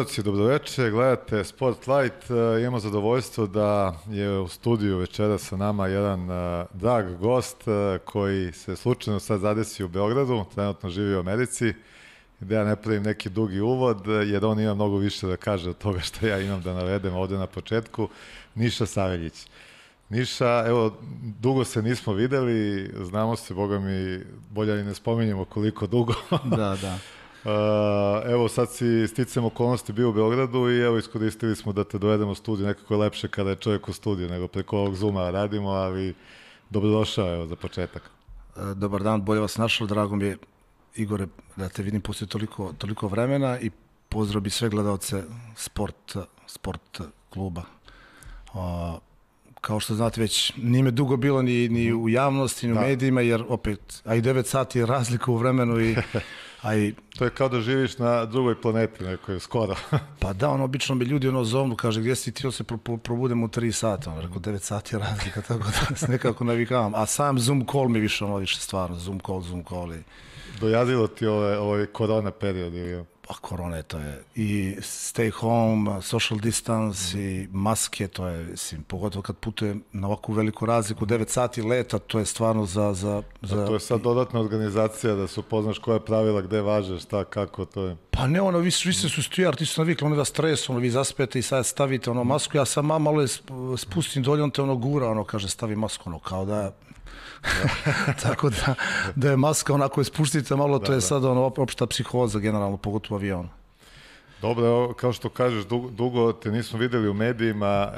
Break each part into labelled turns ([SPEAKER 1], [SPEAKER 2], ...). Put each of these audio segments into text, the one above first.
[SPEAKER 1] gledalci, dobroveče, gledate Spotlight. Imamo zadovoljstvo da je u studiju večera sa nama jedan drag gost koji se slučajno sad zadesi u Beogradu, trenutno živi u Americi, gde ja ne pravim neki dugi uvod, jer on ima mnogo više da kaže od toga što ja imam da navedem ovde na početku. Niša Saveljić. Niša, evo, dugo se nismo videli, znamo se, boga mi, bolje i ne spominjemo koliko dugo.
[SPEAKER 2] Da, da.
[SPEAKER 1] Evo sad si sticam okolnosti bio u Beogradu i evo iskoristili smo da te dovedemo u studiju, nekako je lepše kada je čovjek u studiju nego preko ovog Zooma radimo, ali dobrodošao evo za početak.
[SPEAKER 2] Dobar dan, bolje vas našao, drago mi je Igore da te vidim posle toliko vremena i pozdrav bi sve gledalce sport kluba. Kao što znate već, nije me dugo bilo ni u javnosti, ni u medijima, jer opet, a i 9 sati je razlika u vremenu i
[SPEAKER 1] to je kao da živiš na drugoj planeti nekoj, skoro.
[SPEAKER 2] Pa da, obično mi ljudi zovnu, kaže gdje si ti, se probudem u 3 sata, rekao 9 sati je razlika, tako da se nekako navikavam. A sam Zoom call mi više stvarno, Zoom call.
[SPEAKER 1] Dojadilo ti ovaj korona period ili?
[SPEAKER 2] Pa korona je, to je i stay home, social distance i maske, to je, mislim, pogotovo kad putujem na ovakvu veliku razliku, 9 sati leta, to je stvarno za...
[SPEAKER 1] To je sad dodatna organizacija da se upoznaš koja pravila, gde važe, šta, kako, to je...
[SPEAKER 2] Pa ne, vi se su stijar, ti su navikli, da stres, vi zaspete i sad stavite masku, ja sam malo spustim dolje, on te gura, kaže stavi masku, kao da... Tako da je maska onako spustite malo, to je sad opšta psihoza generalno, pogotovo u avionu.
[SPEAKER 1] Dobro, kao što kažeš, dugo te nismo videli u medijima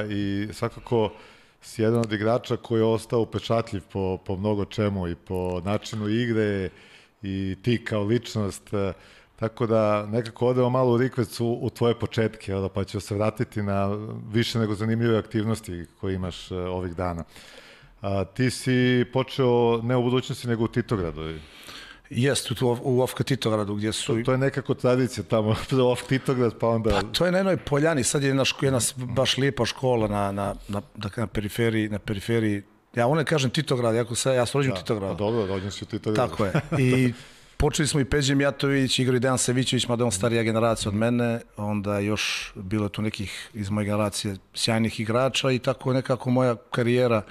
[SPEAKER 1] i svakako si jedan od igrača koji je ostao upečatljiv po mnogo čemu i po načinu igre i ti kao ličnost, tako da nekako odemo malo u rikvecu u tvoje početke, pa ću se vratiti na više nego zanimljive aktivnosti koje imaš ovih dana. Ti si počeo ne u budućnosti nego u Titogradu.
[SPEAKER 2] Jeste, u OFK Titogradu gdje su...
[SPEAKER 1] To je nekako tradicija tamo, OFK Titograd pa onda...
[SPEAKER 2] Pa to je na jednoj poljani, sad je jedna baš lijepa škola na periferiji. Ja ne kažem Titograd, ja sam rođen u Titogradu.
[SPEAKER 1] Dobro, rođen si u Titogradu.
[SPEAKER 2] Tako je. I počeli smo i Peđe Mijatović, igrao i Dejan Savićević, mada je on starija generacija od mene, onda još bilo tu nekih iz moje generacije sjajnih igrača i tako nekako moja karijera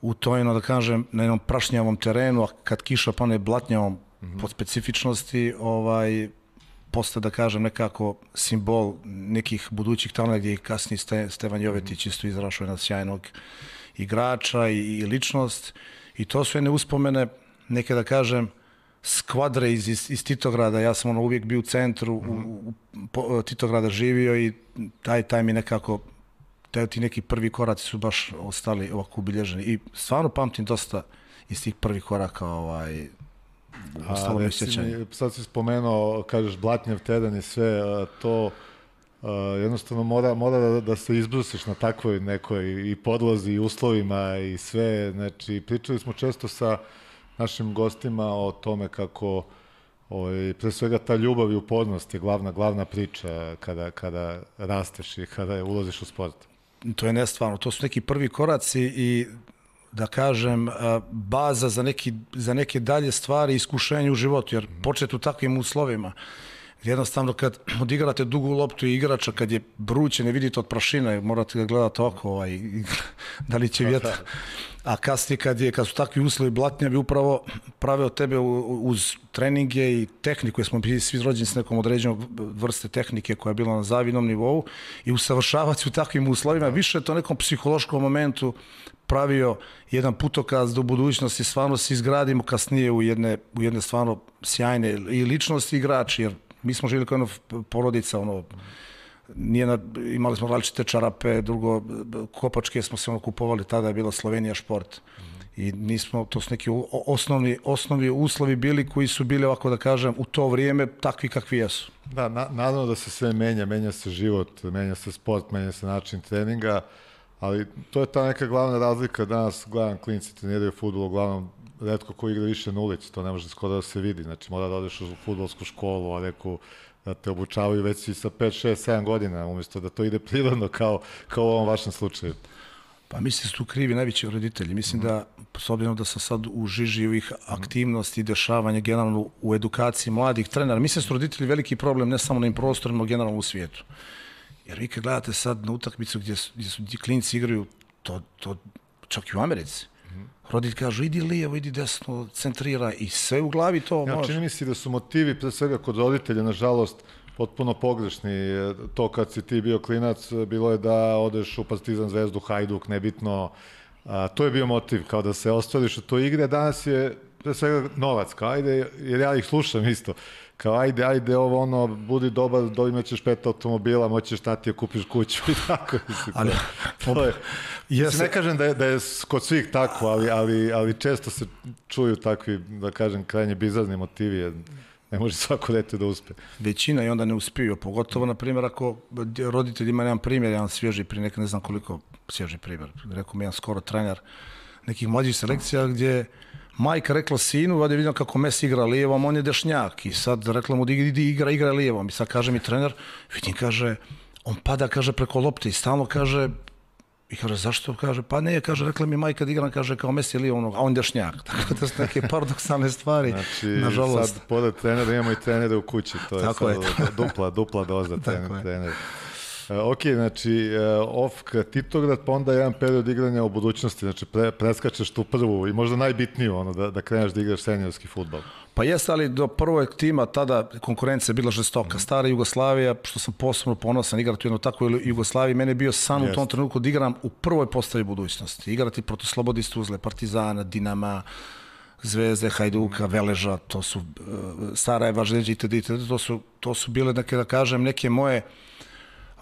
[SPEAKER 2] u toj, da kažem, na jednom prašnjavom terenu, a kad kiša pane blatnjavom po specifičnosti, postaje, da kažem, nekako simbol nekih budućih talenta gdje je kasnije Stevan Jovetić isto izrašao jedna sjajnog igrača i ličnost. I to su jedne uspomene, neke, da kažem, skvadre iz Titograda. Ja sam uvijek bio u centru, Titograda živio i taj mi nekako... Ti neki prvi koraci su baš ostali ovako ubilježeni i stvarno pamtim dosta iz tih prvih koraka ostalo mi sjećanje.
[SPEAKER 1] Sad si spomenuo, kažeš blatnjav teren i sve, to jednostavno mora da se izbrusiš na takvoj nekoj i podlozi i uslovima i sve, znači pričali smo često sa našim gostima o tome kako pre svega ta ljubav i upornost je glavna priča kada rasteš i kada ulaziš u sport.
[SPEAKER 2] To je nestvarno, to su neki prvi koraci i da kažem baza za neke dalje stvari i iskušenje u životu, jer početi u takvim uslovima, jednostavno kad odigrate dugu loptu i igrača kad je vruće, ne vidite od prašina, morate ga gledati oko, da li će vjetar, a kasnije kad su takvi uslovi blatnjavi upravo prave od tebe uz treninge i tehniku, jer smo bili svi rođeni s nekom određenom vrste tehnike koja je bila na zavidnom nivou i usavršavati u takvim uslovima, više je to nekom psihološkom momentu pravio jedan putokaz do budućnosti, stvarno se izgradimo kasnije u jedne stvarno sjajne i ličnosti igrači, jer mi smo živjeli kao jedna porodica, imali smo različite čarape, drugo, kopačke smo se kupovali, tada je bila Slovenija šport i to su neki osnovni uslovi bili koji su bili, ovako da kažem, u to vrijeme takvi kakvi jesu.
[SPEAKER 1] Da, naravno da se sve menja se život, menja se sport, menja se način treninga, ali to je ta neka glavna razlika. Danas gledam klinci treniraju fudbal, uglavnom retko ko igra više na ulici, to ne može skoro da se vidi, znači mora da odeš u fudbalsku školu, a neku da te obučavaju već i sa 5, 6, 7 godina, umjesto da to ide prirodno kao u ovom vašem slučaju.
[SPEAKER 2] Pa mislim da su tu krivi najveći roditelji. Mislim da, s obzirom da sam sad u žiži ovih aktivnosti i dešavanja generalno u edukaciji mladih trenera, mislim da su roditelji veliki problem ne samo na im prostorima, generalno u svijetu. Jer vi kad gledate sad na utakmicu gdje su klinci igraju, to čak i u Americi. Roditelj kažu, idi lijevo, idi desno, centrira i sve u glavi to može.
[SPEAKER 1] Čini mi se da su motivi, pre svega kod roditelja, nažalost, potpuno pogrešni. To kad si ti bio klinac, bilo je da odeš u Partizan, Zvezdu, Hajduk, nebitno. To je bio motiv, kao da se ostvariš u toj igre. Danas je pre svega novac, kao ajde, jer ja ih slušam isto. Kao ajde, ovo ono, budi dobar, imaćeš 5 automobila, moćeš tati, kupiš kuću i tako.
[SPEAKER 2] Ali,
[SPEAKER 1] ne kažem da je kod svih tako, ali često se čuju takvi, da kažem, krajnje bizarni motivi, jer ne može svako dete da uspe.
[SPEAKER 2] Većina i onda ne uspiju, pogotovo, na primjer, ako roditelj ima jedan primjer, jedan svježi prije ne znam koliko svježi primjer, rekao mi jedan skoro trener nekih mlađih selekcija gdje majka rekla sinu, vadi vidim kako Messi igra lijevom, on je dešnjak i sad rekla mu idi igra lijevom i sad kaže mi trener, vidim, kaže, on pada, kaže, preko lopte i stalno kaže, i kaže, zašto? Kaže, pa ne, kaže, rekla mi majka da igram, kaže, kao Messi lijevom, a on dešnjak. Tako da su neke paradoksalne stvari,
[SPEAKER 1] znači,
[SPEAKER 2] nažalost.
[SPEAKER 1] Sad, pored trenera, imamo i trenere u kući, to je tako sad dupla doza trener. Ok, znači, Titograd, pa onda jedan period igranja u budućnosti, znači preskačeš tu prvu i možda najbitniju, ono, da kreneš da igraš seniorski fudbal.
[SPEAKER 2] Pa jeste, ali do prvog tima tada konkurencija je bila žestoka. Stara Jugoslavija, što sam posebno ponosan igrati u jednoj takvoj Jugoslaviji, mene je bio san u tom trenutku da igram u prvoj postavi budućnosti. Igrati protiv Slobode Tuzle, Partizana, Dinama, Zvezde, Hajduka, Veleža, to su Sarajeva, Željeđa itd. To su bile, da kažem, neke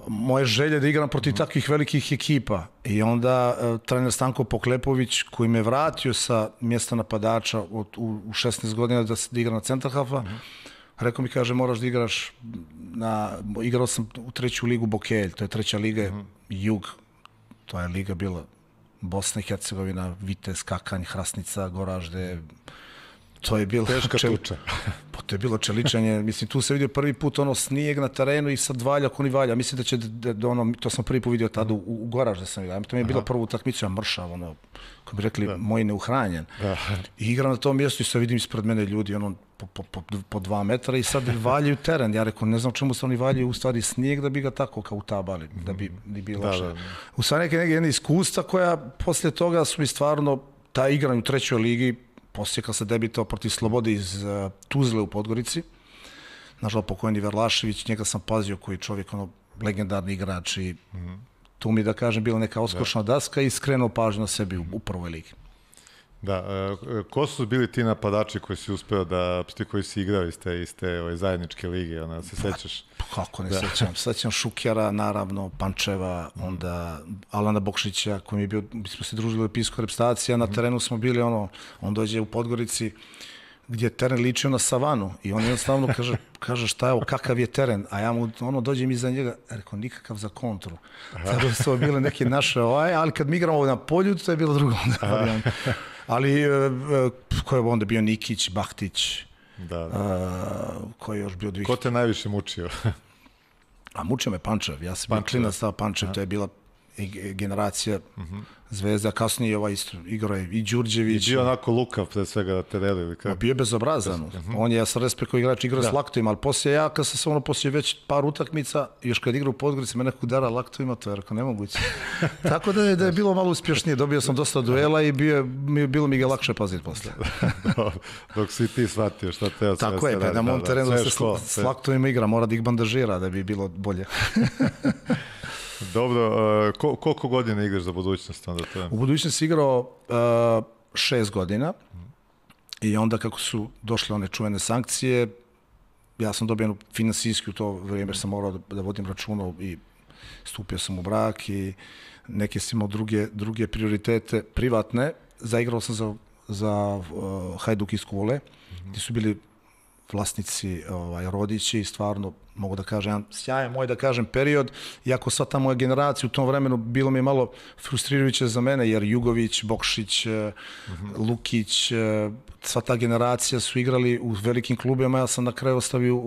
[SPEAKER 2] moje želje da igram protiv takvih velikih ekipa. I onda trener Stanko Poklepović, koji me vratio sa mjesta napadača u 16 godina da igram na centarhafa, rekao mi, kaže, moraš da igraš igrao sam u 3. ligu Bokelj, to je 3. liga, Jug, to je liga bila Bosna i Hercegovina, Vitez, Kakanj, Hrasnica, Goražde. To je bilo
[SPEAKER 1] teška tuča.
[SPEAKER 2] Pa to je bilo čeličanje. Mislim, tu se vidio prvi put ono snijeg na terenu i sad valjak, oni valja. Mislim da će to sam prvi put vidio tada u Goražde sam vidio. To mi je bila prva utakmica, mršav, ono, kako bi rekli, moji neuhranjen. I igram na tom mjestu i sad vidim ispred mene ljudi, ono, po 2 metra i sad valjaju teren. Ja rekao, ne znam čemu se oni valjaju, u stvari snijeg da bi ga tako kao utabali, da bi bilo lakše. U stvari neke iskustva koja poslije toga su mi stvarno, ta igranje u 3. ligi, poslije kad se debitao protiv Slobode iz Tuzle u Podgorici, nažal pokojni Verlašević, njega sam pazio koji je čovjek, ono, legendarni igrač i tu mi, da kažem, bila neka oskošna daska i skrenuo pažnju na sebi u prvoj ligi.
[SPEAKER 1] Da, ko su bili ti napadači koji si uspeo ti koji si igrao iz te zajedničke lige, ona se sećaš?
[SPEAKER 2] Kako ne sećam, sećam Šukjara, naravno, Pančeva, onda Alana Bokšića, koji mi je bio, mi smo se družili u Epijskoj reprezentaciji, a na terenu smo bili, on dođe u Podgorici, gdje je teren ličio na savanu i on jednostavno kaže šta je ovo, kakav je teren, a ja mu dođem iza njega, rekao, nikakav za kontru. Tako su bile neke naše, ali kad mi igramo na polju, to je bilo drugo. Ali ko je onda bio Nikić, Bahtić, ko je još bio
[SPEAKER 1] Ko te najviše mučio?
[SPEAKER 2] A mučio me Pančev, ja sam bio klinac stava Pančev, to je bila generacija Zvezda, kasnije igrao je i Đurđević.
[SPEAKER 1] I bio onako lukav pre svega da te deli ili kako?
[SPEAKER 2] Bio je bezobrazan. On je, ja sam respekt koji igrač igrao s laktovima, ali poslije ja, kad sam poslije već par utakmica, još kad igrao u Podgorici, me nekog udara laktovima, to je rekao nemoguće. Tako da je bilo malo uspješnije, dobio sam dosta duela i bilo mi ga lakše paziti poslije.
[SPEAKER 1] Dok si ti shvatio šta te...
[SPEAKER 2] Tako je, pa na mom terenu se s laktovima igra, mora da ih bandažira da bi bilo bolje.
[SPEAKER 1] Dobro, koliko godina igraš za budućnost?
[SPEAKER 2] U budućnosti igrao 6 godina i onda kako su došle one čuvene sankcije, ja sam dobio finansijski u to vrijeme, sam morao da vodim računa i stupio sam u brak i neke sam imao druge prioritete privatne. Zaigrao sam za Hajduk iz Kule, gdje su bili vlasnici Rodići i stvarno mogu da kažem, jedan sjajan moj, da kažem, period, iako sva ta moja generacija u tom vremenu bilo mi je malo frustrirajuće za mene, jer Jugović, Bokšić, Lukić, sva ta generacija su igrali u velikim klubima, ja sam na kraju ostavio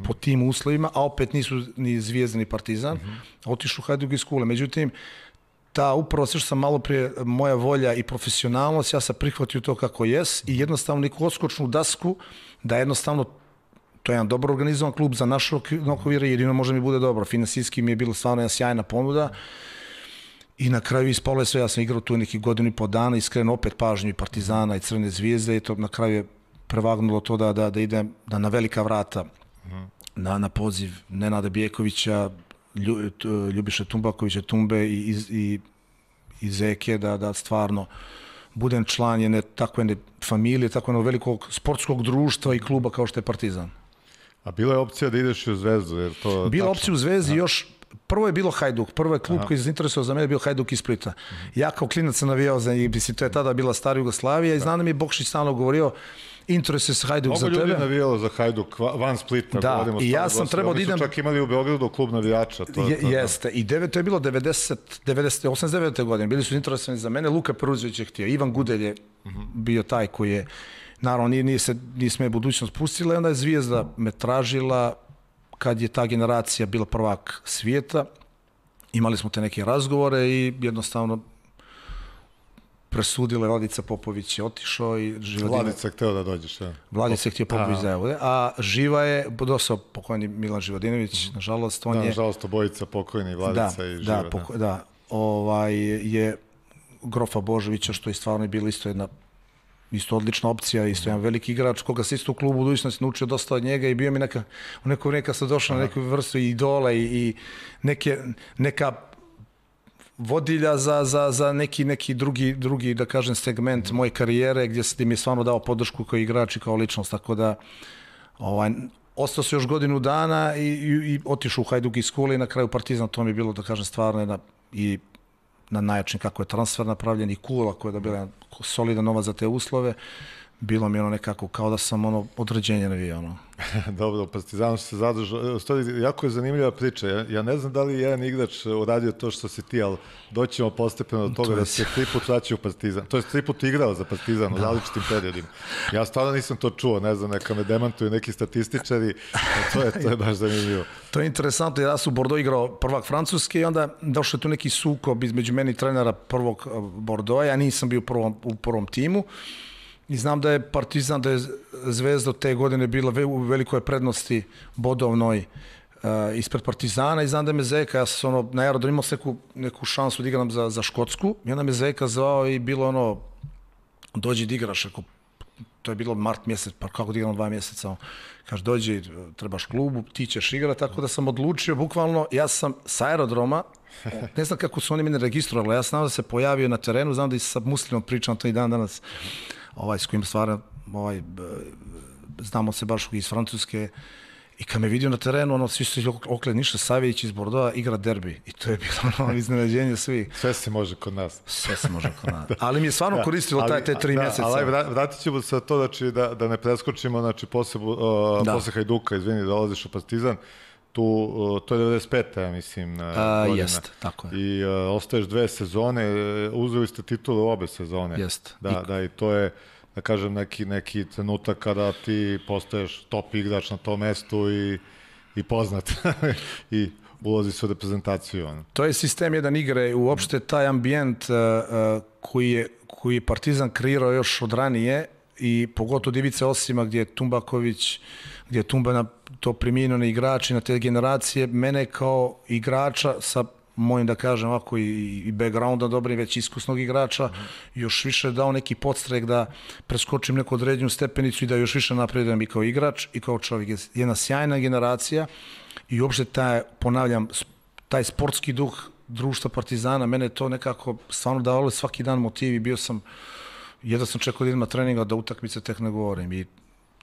[SPEAKER 2] po tim uslovima, a opet nisu ni Zvijezda ni Partizan, otišu u Hajduk iz Kule. Međutim, upravo sve što sam malo prije, moja volja i profesionalnost, ja sam prihvatio to kako jes i jednostavno neku odskočnu dasku, da jednostavno to je jedan dobro organizovan klub za naše okvire, jedino možda mi bude dobro. Finansijski mi je bila stvarno jedna sjajna ponuda i na kraju ispalo je sve, ja sam igrao tu neki godinu i po dana i skrenuo opet pažnju i Partizana i Crvene zvijezde i to na kraju je prevagnulo to da idem na velika vrata na poziv Nenada Bijekovića, Ljubiše Tumbakovića, Tumbe i Zeke, da stvarno budem član takve familije, tako jednog velikog sportskog društva i kluba kao što je Partizan.
[SPEAKER 1] A bila je opcija da ideš u Zvezdu? Jer to
[SPEAKER 2] bila opcija u Zvezdi još, prvo je bilo Hajduk, prvo je klub koji se interesovao za mene, bio Hajduk iz Splita. Ja kao klinac sam navijao za njih, to je tada bila stara Jugoslavija i znam da mi je Bokšić stalno govorio, interesuje se Hajduk za tebe.
[SPEAKER 1] Mnogo ljudi navijalo za Hajduk van Splita.
[SPEAKER 2] Da, i ja sam trebao da idem...
[SPEAKER 1] Oni su čak imali u Beogradu klub navijača.
[SPEAKER 2] Jeste, i to je bilo 89. godine, bili su interesovani za mene, Luka Peruzović je htio, Ivan Gudelj je bio taj koji je, naravno nije me budućnost pustila i onda je Zvijezda me tražila kad je ta generacija bila prvak svijeta, imali smo te neke razgovore i jednostavno presudila Vladica Popović je otišao i
[SPEAKER 1] Vladica je hteo da dođeš, ja.
[SPEAKER 2] Vladica je htio Popović da je, a živa je, dosao pokojni Milan Živodinović, nažalost, on je...
[SPEAKER 1] Nažalost, obojica pokojni, Vladica i Živa.
[SPEAKER 2] Je Grofa Božovića, što je stvarno bilo isto odlična opcija, isto jedan veliki igrač, koga se isto u klubu budućnosti naučio dosta od njega i bio mi neka sam došao na neku vrstu idola i neka vodilja za neki drugi, da kažem, segment moje karijere gdje mi je stvarno dao podršku kao igrač i kao ličnost, tako da ostao se još godinu dana i otišao u Hajduk iz Kule i na kraju Partizan, to mi je bilo, da kažem, stvarno i na najjačin kako je transfer napravljen i Kula koja je bila solidan novac za te uslove, bilo mi nekako kao da sam određenje navijao.
[SPEAKER 1] Dobro, Partizanu se zadržao. Jako je zanimljiva priča. Ja ne znam da li je jedan igrač uradio to što si ti, ali doćemo postepeno do toga da se 3 put vraćao u Partizan. To je 3 put igrao za Partizan u različitim periodima. Ja stvarno nisam to čuo, ne znam, neka me demantuju neki statističari, to je baš zanimljivo.
[SPEAKER 2] To je interesantno, ja sam u Bordeaux igrao prvak Francuske i onda došao je tu neki sukob između meni i trenera prvog Bordeauxa, ja nisam bio u prvom timu. I znam da je Partizan, da je Zvezda te godine bila u velikoj prednosti bodovnoj ispred Partizana i znam da me Zeka, ja sam na aerodromu imao neku šansu da igram za Škotsku i onda me Zeka zvao i bilo dođi da igraš, to je bilo mart mjesec, pa kako da igram 2 mjeseca, kaže dođi, trebaš klubu, ti ćeš igrati, tako da sam odlučio, bukvalno, ja sam sa aerodroma, ne znam kako su oni mene registrovali, ja znam da se pojavio na terenu, znam da i sa Muslimom pričam to i dan danas, s kojim stvarno, znamo se baš iz Francuske, i kad me vidio na terenu, svi su okled Niša Savić iz Bordeauxa igra derbi. I to je bilo iznenađenje svih.
[SPEAKER 1] Sve se može kod nas.
[SPEAKER 2] Sve se može kod nas. Ali mi je stvarno koristilo te 3 mjeseca.
[SPEAKER 1] Ali vratit ćemo se to, da ne preskočimo, posle Hajduka, izvini, dolaziš u Partizan, to je 95. ja mislim, godina.
[SPEAKER 2] Jest, tako je.
[SPEAKER 1] I ostaješ 2 sezone, uzeli ste titulu obe sezone.
[SPEAKER 2] Jest.
[SPEAKER 1] Da, i to je, da kažem, neki trenutak kada ti postaješ top igrač na tom mestu i poznat i ulazi se u reprezentaciju.
[SPEAKER 2] To je sistem jedan igre, uopšte taj ambijent koji je Partizan kreirao još od ranije i pogotovo Divice Osima gdje je Tumbaković, gdje je Tumba to primijenio na igrači, na te generacije, mene kao igrača sa mojim, da kažem ovako, i backgrounda dobrim, već iskusnog igrača, još više dao neki podstrek da preskočim neku određenu stepenicu i da još više napredujem i kao igrač i kao čovjek. Jedna sjajna generacija i uopšte taj sportski duh društva Partizana, mene to nekako stvarno davalo svaki dan motiv i bio sam, jedva sam čekao da idem na treninga, da utakmice tek ne govorim i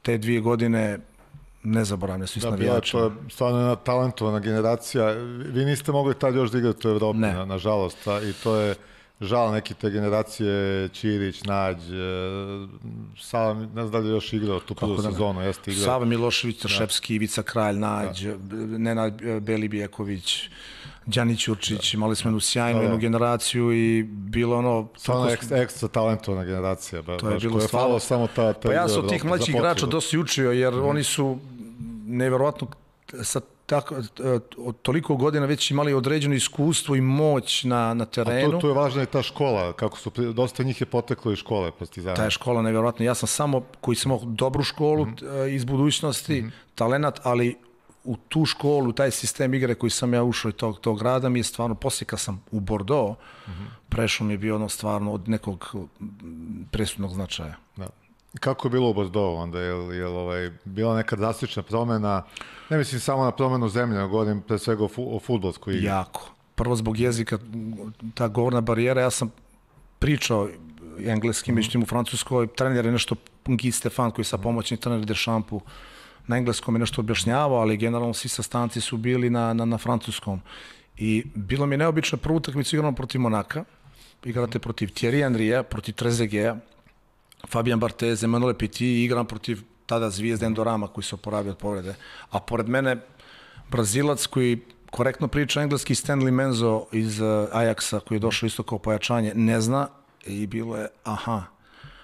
[SPEAKER 2] te 2 godine nezaboravne su i s navijačima.
[SPEAKER 1] To je stvarno jedna talentovana generacija. Vi niste mogli tad još da igrati u Evropi, nažalost. I to je žal neki te generacije, Ćirić, Nađ, Sava, ne znam da li je još igrao tu prvu sezonu.
[SPEAKER 2] Sava Milošević, Trševski, Ivica Kralj, Nađ, Nenad Belibijeković, Đani Ćurčić, imali smo jednu sjajnu generaciju i bilo
[SPEAKER 1] stvarno ekstra talentovana generacija.
[SPEAKER 2] To je bilo stvarno. Pa ja sam od tih mlađih igrača dosta učio, jer oni su nevjerovatno sa toliko godina već imali određeno iskustvo i moć na terenu.
[SPEAKER 1] A tu je važna i ta škola, kako su, dosta njih je poteklo iz škole Partizana.
[SPEAKER 2] Ta je škola nevjerojatna. Ja sam samo, koji sam imao dobru školu iz budućnosti, talenat, ali u tu školu, taj sistem igre koji sam ja ušao i tog grada mi je stvarno, poslije kad sam u Bordeaux, prešao mi je bio ono stvarno od nekog presudnog značaja.
[SPEAKER 1] Da. Kako je bilo u Bordeaux onda? Je bila neka drastična promjena? Ne mislim samo na promjenu zemlje, nego govorim pre svega o fudbalskoj igri.
[SPEAKER 2] Jako. Prvo zbog jezika, ta govorna barijera, ja sam pričao engleski, međutim u Francuskoj, trener je nešto, Guy Stefan, koji je sa pomoćni trener Deschampu, na engleskom je nešto objašnjavao, ali generalno svi sastanci su bili na francuskom. I bilo mi je neobično, prvu utakmicu igramo protiv Monaka, igrate protiv Thierry Henrya, protiv Trezegueta, Fabien Barthez, Emmanuel Petit, igram protiv tada zvijezde Endorama koji se oporavio od povrede. A pored mene Brazilac koji korektno priča engleski, Stanley Menzo iz Ajaxa koji je došao isto kao pojačanje, ne zna i bilo je aha.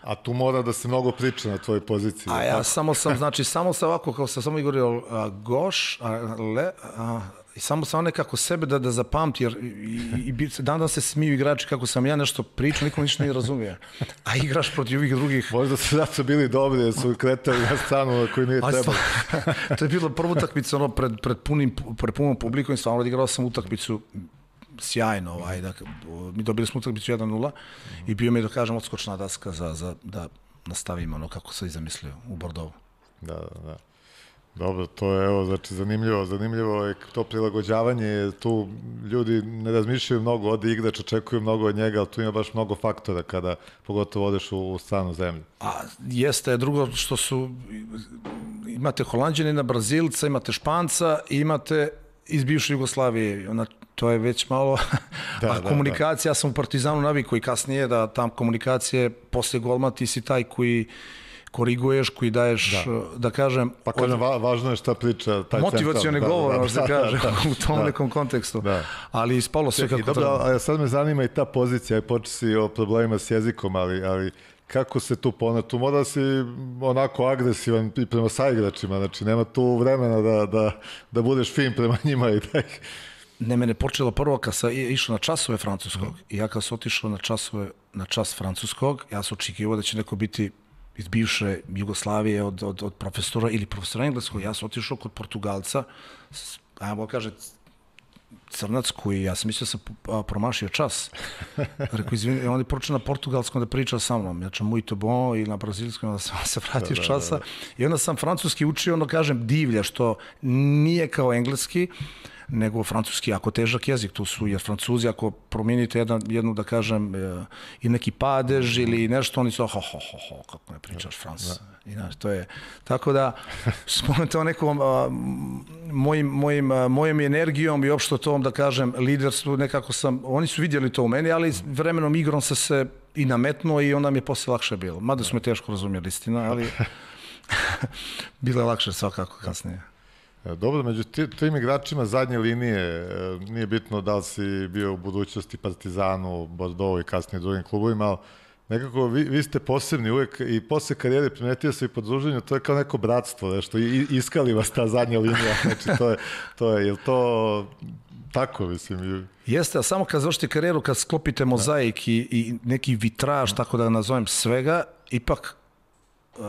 [SPEAKER 1] A tu mora da se mnogo priča na tvojoj poziciji.
[SPEAKER 2] A ja samo sam ovako, kao sam samo govorio goš, i samo sam nekako sebe da zapamti, jer dan se smiju igrači kako sam ja nešto pričao, niko ništa ne razumije. A igraš protiv ovih drugih.
[SPEAKER 1] Možda su zato bili dobri, jer su kretali na stranu koji nije trebalo.
[SPEAKER 2] To je bilo prva utakmica pred punom publikom i stvarno odigrao sam utakmicu sjajno. Mi dobili smo utakmicu 1-0 i bio mi je, da kažem, odskočna daska da nastavimo ono kako se i zamislio u Bordeaux.
[SPEAKER 1] Da. Dobro, to je, evo, znači, zanimljivo je to prilagođavanje, tu ljudi ne razmišljaju mnogo, ode igrač, očekuju mnogo od njega, ali tu ima baš mnogo faktora kada pogotovo odeš u stranu zemlju.
[SPEAKER 2] A jeste, drugo što su, imate Holanđanina, Brazilca, imate Španca i imate iz bivše Jugoslavije, to je već malo, komunikacija, ja sam u Partizanu navikao i kasnije da tam komunikacije, poslije golma ti si taj koji koriguješ, koji daješ, da kažem...
[SPEAKER 1] Pa kažem, važno je šta priča taj
[SPEAKER 2] motivacioni govor, možda da kažem, u tom nekom kontekstu. Ali ispalo sve kako treba.
[SPEAKER 1] A sad me zanima i ta pozicija, počeo si o problemima s jezikom, ali kako se tu ponad? Tu mora si onako agresivan i prema saigračima, znači nema tu vremena da budeš fin prema njima i da ih...
[SPEAKER 2] Ne, mene počelo prvo kad sam išao na časove francuskog i ja kad sam otišao na čas francuskog, ja sam očekivao da će neko biti iz bivše Jugoslavije od profesora ili profesora engleskog. Ja sam otišao kod Portugalca, ajmo kaže crnac koji, ja sam mislio da sam promašio čas. Rekao, izvini, on je počeo na portugalskom da priča sa mnom. Ja ću muito bon i na brazilskom da sam se vratio iz časa. I onda sam francuski učio, ono kažem, divlja, što nije kao engleski, nego francuski jako težak jezik, tu su, jer Francuzi ako promijenite jednu, da kažem, i neki padež ili nešto, oni su kako ne pričaš Frans. To je, tako da, to nekom mojom energijom i opšto tom, da kažem, liderstvu, nekako oni su vidjeli to u meni, ali vremenom igrom se i nametnuo i onda mi je posle lakše bilo. Mada su me teško razumjeli, istina, ali bilo je lakše svakako kasnije.
[SPEAKER 1] Dobro, među tim igračima zadnje linije, nije bitno da li si bio u budućnosti Partizanu, Bordeaux i kasnije drugim klubovima, ali nekako vi ste posebni uvek i posle karijere primetio se i po druženju, to je kao neko bratstvo, nešto, iskali vas ta zadnja linija, znači je li to tako, mislim?
[SPEAKER 2] Jeste, a samo kad završite karijeru, kad sklopite mozaik i neki vitraž, tako da nazovem svega, ipak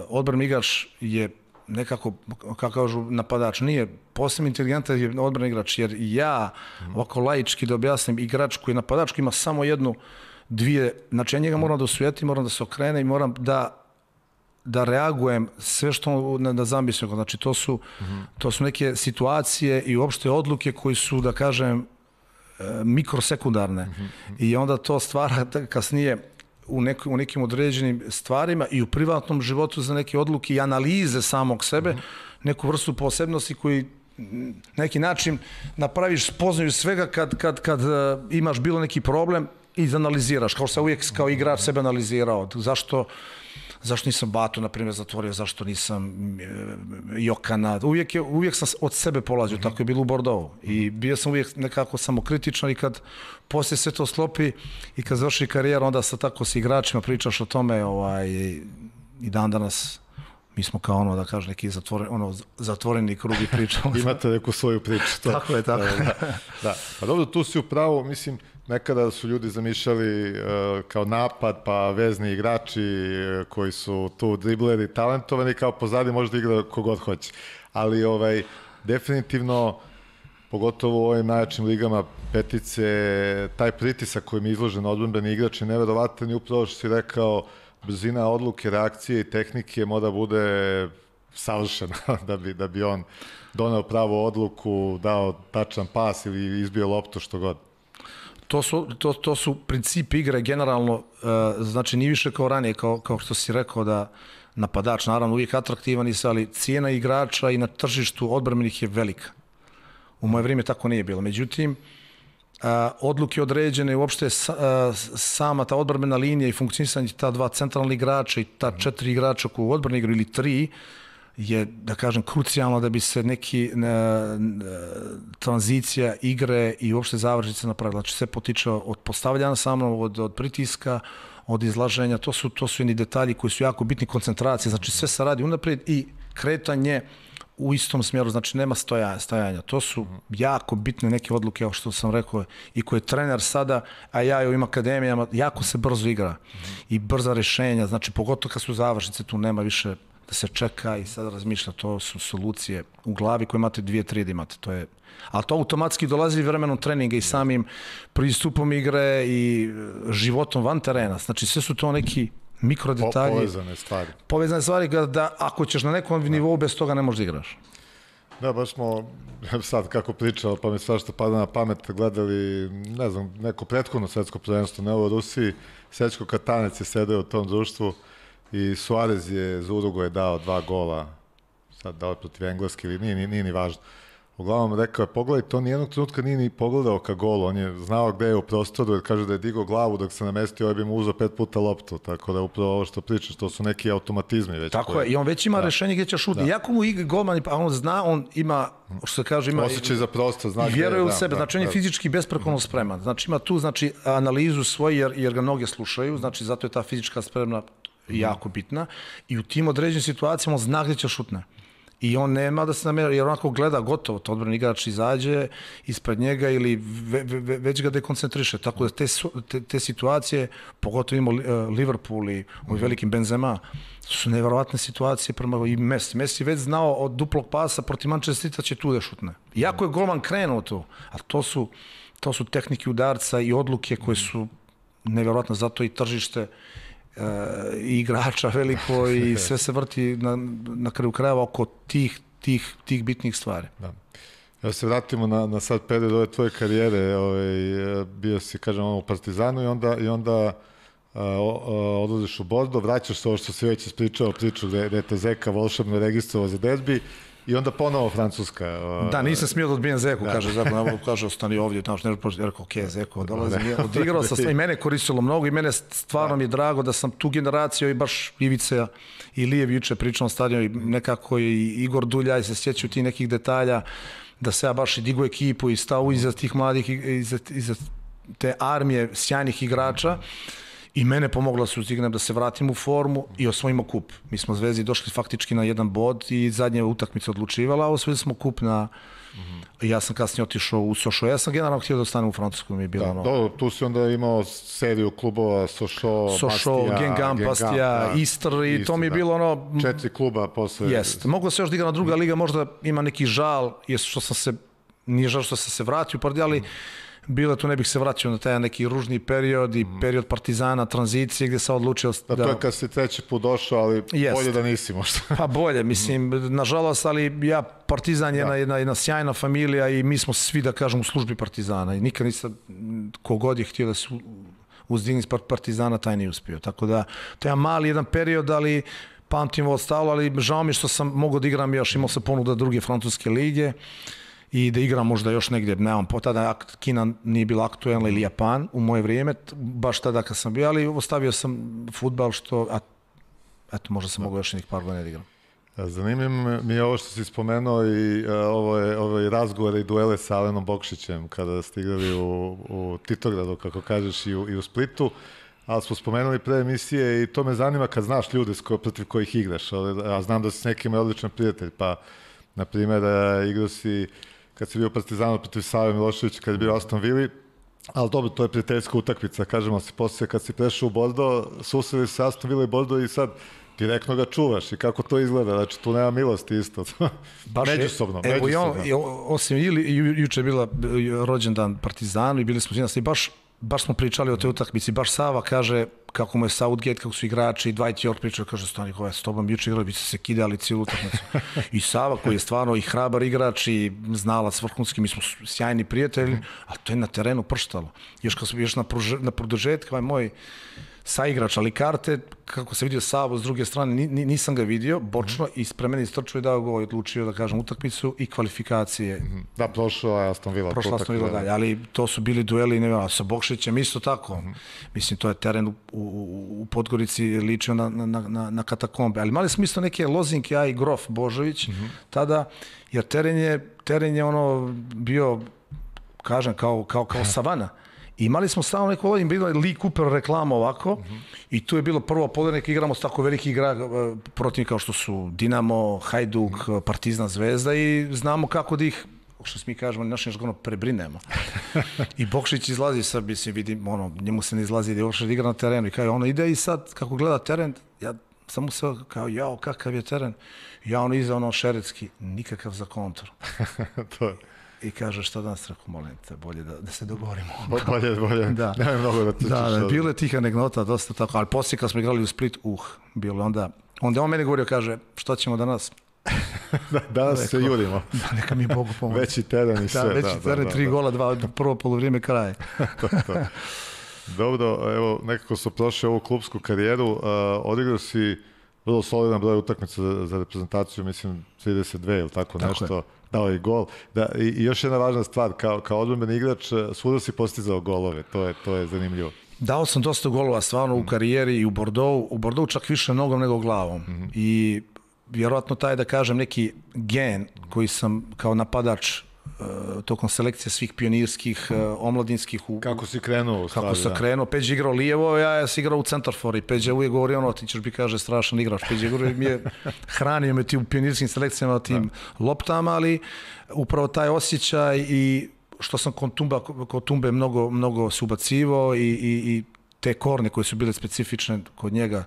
[SPEAKER 2] odbrani igrač je nekako, kako kažu, napadač. Nije posebno inteligentan je odbrani igrač, jer ja, ovako laički da objasnim, igrač koji je napadač, koji ima samo jednu, dvije, znači ja njega moram da osvijetim, moram da se okrene i moram da reagujem sve što da zamislim. Znači to su neke situacije i uopšte odluke koji su, da kažem, mikrosekundarne. I onda to stvara kasnije u nekim određenim stvarima i u privatnom životu za neke odluke i analize samog sebe, neku vrstu posebnosti koji na neki način napraviš spoznaju svega kad imaš bilo neki problem i izanaliziraš, kao što sam uvijek kao igrač sebe analizirao. Zašto nisam Batu, na primjer, zatvorio, zašto nisam Jokana. Uvijek sam od sebe polazio, tako je bilo u Bordeaux. I bio sam uvijek nekako samokritičan i kad poslije sve to sklopi i kad završi karijer, onda tako sa igračima pričaš o tome i dan danas Mi smo kao ono, da kažem, neki zatvoreni krug i pričamo.
[SPEAKER 1] Imate neku svoju priču. To.
[SPEAKER 2] Tako je, tako.
[SPEAKER 1] Da. Pa dobro, tu si upravo, mislim, nekada su ljudi zamišljali kao napad, pa vezni igrači koji su tu dribleri, talentovani, kao pozadi može da igra kogod hoće. Ali definitivno, pogotovo u ovim najjačim ligama petice, taj pritisak kojim je izložen odbrambeni igrač je neverovatan i upravo što si rekao, brzina odluke, reakcije i tehnike mora bude savršena da bi on doneo pravu odluku, dao tačan pas ili izbio loptu, što god.
[SPEAKER 2] To su princip igre generalno, znači nije više kao ranije, kao što si rekao da napadač naravno uvijek atraktivan, ali cijena igrača i na tržištu odbrambenih je velika. U moje vrijeme tako nije bilo. Međutim, odluke određene, uopšte sama ta odbrambena linija i funkcionisanje ta dva centralna igrača i ta 4 igrača koji u odbrani igraju ili 3 je, da kažem, krucijalno da bi se neki tranzicija igre i uopšte završnice napravila. Znači sve potiče od postavljanja samo, od pritiska, od izlaženja. To su jedni detalji koji su jako bitni, koncentracije. Znači sve se radi unaprijed i kretanje u istom smjeru, znači nema stajanja. To su jako bitne neke odluke, što sam rekao, i koje trener sada, a ja i u ovim akademijama, jako se brzo igra i brza rješenja, znači pogotovo kad su završnice, tu nema više da se čeka i sada razmišlja, to su solucije u glavi koje imate 2-3 da imate, to je, ali to automatski dolazi vremenom treninga i samim pristupom igre i životom van terena, znači sve su to neki mikrodetalji. Povezane stvari da ako ćeš na nekom nivou bez toga ne možeš da igraš.
[SPEAKER 1] Da, baš smo sad kako pričao, pa mi svašta pada na pamet, gledali, ne znam, neko prethodno svetsko prvenstvo, ne ovo u Rusiji, Srećko Katanec je sedeo u tom društvu i Suarez je za Uruguay dao 2 gola, sad dao protiv Engleske ili nije ni važno. Uglavnom rekao je, pogledaj, to nijednog trenutka nije ni pogledao ka golu, on je znao gde je u prostoru, jer kaže da je digao glavu dok se namestio, ovaj bi mu uzao 5 puta loptu, tako da upravo ovo što pričaš, to su neki automatizmi već.
[SPEAKER 2] Tako je, i on već ima rešenje gdje će šutiti. Iako mu igra golman, a on zna, on ima, što se kaže, ima
[SPEAKER 1] osjećaj za prostor, zna
[SPEAKER 2] i vjeruje u sebe, znači on je fizički besprekorno spreman. Znači ima tu analizu svoju, jer ga mnoge slušaju, znači zato je ta fizička spremna jako bitna i u tim određenim situacijama on zna gdje će šutne. I on nema da se namjera, jer onako gleda gotovo, to odbrani igrač izađe ispred njega ili već ga dekoncentriše. Tako da te situacije, pogotovo ima Liverpool i ovim velikim Benzema, su nevjerovatne situacije i Messi. Messi već znao od duplog pasa protiv Manchester City će tu da šutne. Iako je golman krenuo tu, ali to su tehnike udarca i odluke koje su nevjerovatne, zato i tržište i igrača veliko i sve se vrti na kraju krajeva oko tih bitnih stvari. Da.
[SPEAKER 1] Ja se vratimo na sad period ove tvoje karijere, bio si, kažem, u Partizanu i onda odlaziš u Bordo, vraćaš se ovo što si već ispričao, priču gde je te Zeka volšebno registrovao za derbi i onda ponovo Francuska.
[SPEAKER 2] Da, nisam smio da odbijem Zeku, kaže, ostani ovdje, tamo što ne rekao, ok, Zeko, dolazim, odigrao sam, i mene koristilo mnogo i mene stvarno mi je drago da sam tu generaciju i baš Ivica i Lijev juče pričao na stadionu i nekako i Igor Duljaj se sjećaju ti nekih detalja, da se ja baš i digu ekipu i stao iza tih mladih, iza te armije sjajnih igrača. I mene pomogla su uzdignem da se vratim u formu i osvojimo kup. Mi smo Zvezdi došli faktički na 1 bod i zadnja utakmica odlučivala, a osvojili smo kup na... Ja sam kasnije otišao u Sochaux. Ja sam generalno htio da ostanem u Francusku.
[SPEAKER 1] Tu si onda imao seriju klubova Sochaux,
[SPEAKER 2] Guingamp, Bastia, Istres i to mi je bilo
[SPEAKER 1] 4 kluba posle.
[SPEAKER 2] Jest. Moglo se još da igra na druga liga, možda ima neki žal, nije žal što sam se vratio, ali bilo tu ne bih se vraćao na taj neki ružni period i period Partizana, tranzicije gdje sam odlučio
[SPEAKER 1] da... To je kad si 3. put došao, ali bolje da nisi možda.
[SPEAKER 2] Pa bolje, mislim, nažalost, ali Partizan je jedna sjajna familija i mi smo svi, da kažem, u službi Partizana i nikad nisam, kogod je htio da se uzdigni iz Partizana, taj nije uspio. Tako da, to je mali jedan period, ali pamtim ovo stalo, ali žao mi što sam mogao da igram još, imao sam ponuda druge francuske lige i da igram možda još negdje, nemam, tada Kina nije bila aktuelna ili Japan u moje vrijeme, baš tada kad sam bio, ali ostavio sam fudbal eto, možda sam mogao još nekih par godina da igram.
[SPEAKER 1] Zanimljivo mi je ovo što si spomenuo i ove razgovore i duele sa Alenom Bokšićem kada ste igrali u Titogradu, kako kažeš, i u Splitu. ali smo spomenuli pre emisije i to me zanima kad znaš ljude protiv kojih igraš, a znam da si s nekima odličan prijatelj, pa na primjer igrao si kad si bio Partizanu protiv Save Miloševića, kad je bio Aston Villa, ali dobro, to je prijateljska utakmica, kažemo si, poslije kad si prešao u Bordeaux, susreli se Aston Villa i Bordeaux i sad direktno ga čuvaš i kako to izgleda, znači tu nema milosti isto. Međusobno.
[SPEAKER 2] Evo, osim juče je bila rođendan Partizanu i bili smo i baš smo pričali o toj utakmici, baš Sava kaže kako mu je Southgate, kako su igrači, Dwight York pričao, kaže, stani, koja je s tobom juče igrali, bi se kidali cijelu utakmicu. I Sava koji je stvarno i hrabar igrač i znalac vrhunski, mi smo sjajni prijatelji, a to je na terenu prštalo. Još na produžetku, moj saigrač, ali karte, kako se vidio Savo s druge strane, nisam ga vidio, bočno, i ispred mene istrčao i dao go i odlučio da kažem utakmicu i kvalifikacije.
[SPEAKER 1] Da, prošao je Aston Villa.
[SPEAKER 2] Prošla Aston Villa dalje, ali to su bili dueli, nevjerojatno, sa Bokšićem isto tako. Mislim, to je teren u Podgorici ličio na katakombe, ali imali smo isto neke lozinke, ja i Grof Božović tada, jer teren je ono bio, kažem, kao savana. I imali smo stalno neko vodim, bilo je Lee Cooper reklama ovako i tu je bilo prvo polovine igramo s tako veliki igra protiv kao što su Dinamo, Hajduk, Partizan, Zvezda i znamo kako da ih, što mi kažemo, našim žargonom prebrinemo. I Bokšić izlazi sad, mislim, vidim, njemu se ne izlazi da je uopšte igra na terenu i kao ide i sad kako gleda teren, ja samo se kao, jao, kakav je teren, ja iza šeretski, nikakav za kontr.
[SPEAKER 1] To je.
[SPEAKER 2] I kaže, šta danas, rekao, molim te, bolje da se dogovorimo.
[SPEAKER 1] Bolje,
[SPEAKER 2] da.
[SPEAKER 1] Nemoj mnogo da te
[SPEAKER 2] Da, bilo je tih anegdota, dosta tako, ali poslije kad smo igrali u Split, bilo onda on meni govorio, kaže, šta ćemo danas?
[SPEAKER 1] Danas se jurimo.
[SPEAKER 2] Da, neka mi Bogu pomoći.
[SPEAKER 1] Veći teren i sve.
[SPEAKER 2] Da, veći teren, 3 gola, 2, prvo polovrijeme, kraj.
[SPEAKER 1] Dobro, evo, nekako su prošli ovu klubsku karijeru, odigrao si vrlo solidan broj utakmica za reprezentaciju, mislim 32 ili tako nešto. Dao je gol. I još jedna važna stvar, kao odbrambeni igrač, svuda si postizao golove, to je zanimljivo.
[SPEAKER 2] Dao sam dosta golova stvarno u karijeri i u Bordeaux čak više nogom nego glavom. I vjerojatno taj, da kažem, neki gen koji sam kao napadač tokom selekcije svih pionirskih, omladinskih.
[SPEAKER 1] Kako si krenuo?
[SPEAKER 2] Kako sam krenuo, Peđa igrao lijevo, ja sam igrao u centarfor i Peđa uvijek govori ti ćeš bi, kaže, strašan igrač. Peđa mi je hranio me ti u pionirskim selekcijama, tim loptama, ali upravo taj osjećaj i što sam kod Tumbe mnogo se ubacivao i te korne koje su bile specifične kod njega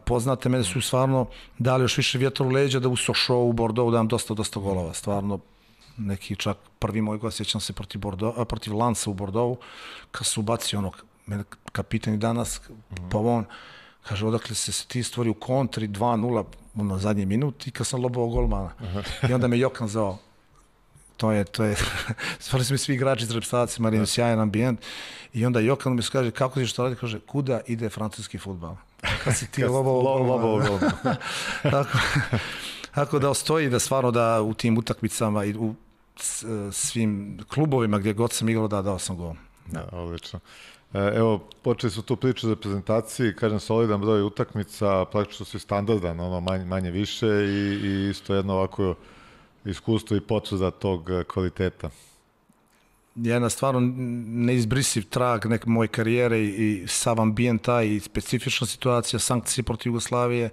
[SPEAKER 2] poznate, mene su stvarno dali još više vjetra u leđa da u Sochaux, u Bordeaux dam dosta golova, stvarno. Neki čak prvi moj gol, sjećam se protiv Lansa u Bordeaux, kad su ubacio mene kapitan i danas, Pavon, kaže, odakle se ti stvori u kontri 2-0 na zadnji minut i kad sam lobao golmana. I onda me Jokan zvao. To je, stvarno su mi svi igrači iz reprezentacije, Marino, sjajan ambijent. I onda Jokan mi kaže, kako si što radi? Kaže, kuda ide francuski fudbal? Kad si ti lobao golmana. Tako da stoji da stvarno da u tim utakmicama i u svim klubovima gdje god sam igrao, dao sam gol.
[SPEAKER 1] Odlično. Evo, počeli su tu priču o reprezentaciji, kažem, solidan broj utakmica, praktično su standardan, manje više i isto jedno ovako iskustvo i potvrda tog kvaliteta.
[SPEAKER 2] Jedna stvarno neizbrisiv trag moje karijere i sav ambijent i specifična situacija, sankcije protiv Jugoslavije,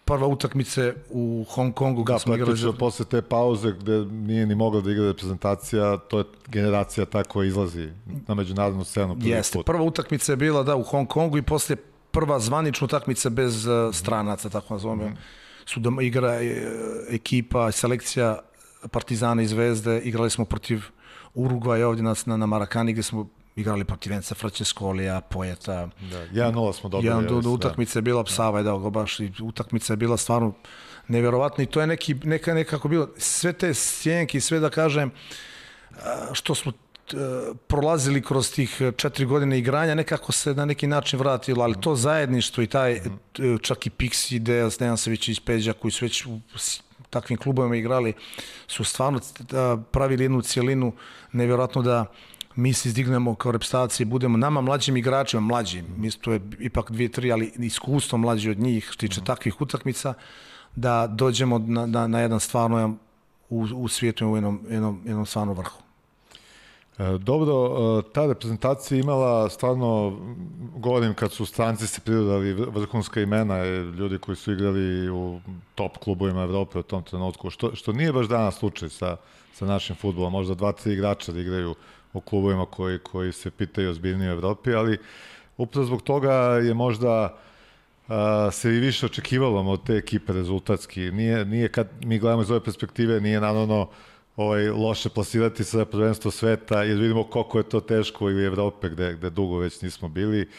[SPEAKER 2] prva utakmice u Hong Kongu.
[SPEAKER 1] Da, praktično posle te pauze gde nije ni mogla da igra reprezentacija, to je generacija ta koja izlazi na međunarodnu scenu.
[SPEAKER 2] Jeste, prva utakmica je bila u Hong Kongu i posle prva zvanična utakmica bez stranaca, tako nazovemo. Su igra ekipa, selekcija Partizana i Zvezde, igrali smo protiv Urugvaja ovdje na Marakani gdje smo igrali protiv Venca Francescolija, Poeta.
[SPEAKER 1] 1-0 smo dobili.
[SPEAKER 2] Utakmica je bila, Sava je dao go baš, i utakmica je bila stvarno nevjerovatna i to je nekako bilo, sve te sjenke i sve da kažem, što smo prolazili kroz tih 4 godine igranja, nekako se na neki način vratilo, ali to zajedništvo i taj, čak i Pixi, Dejan Savićević, Peđa, koji su već u takvim klubovima igrali, su stvarno pravili jednu cijelinu, nevjerojatno da mi se izdignemo kao reprezentacija i budemo nama mlađim igračima, to je ipak 2-3, ali iskustvo mlađi od njih, što tiče takvih utakmica, da dođemo na jedan stvarno u svijetu u jednom stvarno vrhu.
[SPEAKER 1] Dobro, ta reprezentacija imala stvarno, govorim kad su stranci se pridodali vrhunska imena, ljudi koji su igrali u top klubovima Evrope u tom trenutku, što nije baš danas slučaj sa našim fudbalom, možda 2-3 igrača da igraju u klubovima koji se pitaju ozbiljnije u Evropi, ali upravo zbog toga je možda se i više očekivalo od te ekipe rezultatski. Nije kad mi gledamo iz ove perspektive, nije naravno loše plasirati se za prvenstvo sveta, jer vidimo koliko je to teško i u Evrope gde dugo već nismo bili,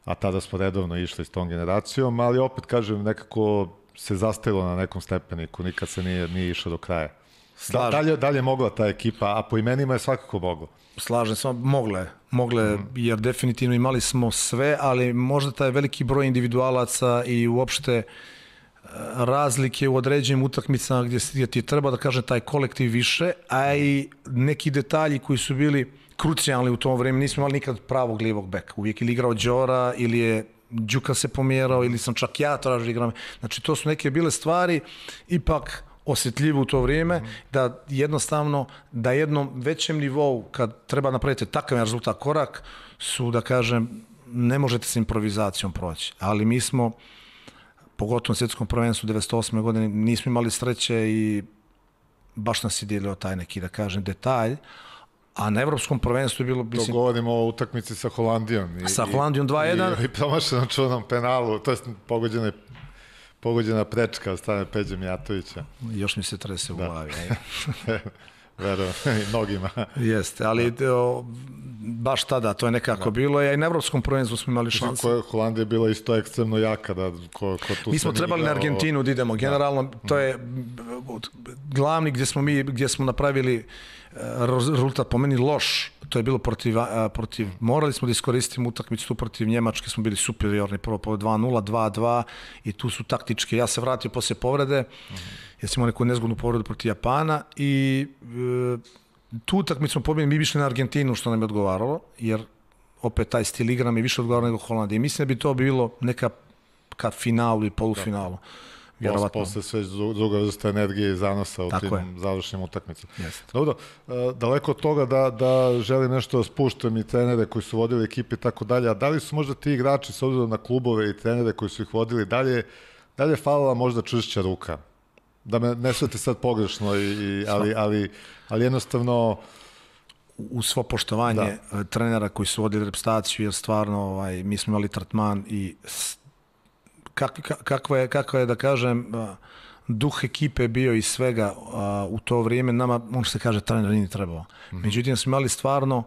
[SPEAKER 1] a tada smo redovno išli s tom generacijom, ali opet kažem, nekako se zastajilo na nekom stepeniku, nikad se nije išlo do kraja. Dalje mogla ta ekipa, a po imenima je svakako mogla.
[SPEAKER 2] Slažem se, mogle, jer definitivno imali smo sve, ali možda taj veliki broj individualaca i uopšte razlike u određenim utakmicama gdje ti treba da kažem taj kolektiv više, a i neki detalji koji su bili krucijalni u tom vremenu. Nismo imali nikad pravog lijevog beka. Uvijek ili igrao Đora, ili je Đuka se pomjerao, ili sam čak ja tražio igram. Znači to su neke bile stvari ipak osjetljivo u to vrijeme, da jednostavno da jednom većem nivou kad treba napraviti takav rezultat korak su, da kažem, ne možete s improvizacijom proći. Ali mi smo pogotovo na svjetskom prvenstvu 1998. godine nismo imali sreće i baš nas je dijelio taj neki, da kažem, detalj, a na evropskom prvenstvu je bilo...
[SPEAKER 1] To govorimo o utakmici sa Holandijom.
[SPEAKER 2] Sa Holandijom 2-1.
[SPEAKER 1] I promašenom čunom penalu, to je pogođena prečka od strane Peđe Mijatovića.
[SPEAKER 2] Još mi se trese u glavi.
[SPEAKER 1] Verujem, i mnogima.
[SPEAKER 2] Jeste, ali baš tada to je nekako bilo. I na evropskom prvenstvu smo imali šanse.
[SPEAKER 1] Holandija je bila isto ekstremno jaka.
[SPEAKER 2] Mi smo trebali na Argentinu da idemo. Generalno, to je glavni gdje smo napravili rezultat po meni loš. To je bilo protiv morali smo da iskoristimo utakmicu tu protiv Njemačke, smo bili superiorni, prvo po 2-0, 2-2 i tu su taktičke. Ja se vratio poslije povrede, jer smo imali neku nezgodnu povredu protiv Japana i tu utakmicu smo pobjedili, mi bi išli na Argentinu, što nam je odgovaralo, jer opet taj stil igra mi više odgovarao nego Holandije. Mislim da bi to bilo neka ka finalu ili polufinalu.
[SPEAKER 1] Posle sve druga vrsta energije i zanosa u tim završnim utakmicama. Dobro, daleko od toga da želim nešto da spuštam i trenere koji su vodili ekipe i tako dalje, a da li su možda ti igrači s obzirom na klubove i trenere koji su ih vodili dalje falila možda čvršća ruka? Da me ne shvate sad pogrešno, ali jednostavno...
[SPEAKER 2] U svo poštovanje trenera koji su vodili reprezentaciju, jer stvarno mi smo imali tretman i kakva je, da kažem, duh ekipe bio i svega u to vrijeme, nama, može se kaže, trener nije trebao. Međutim, smo imali stvarno,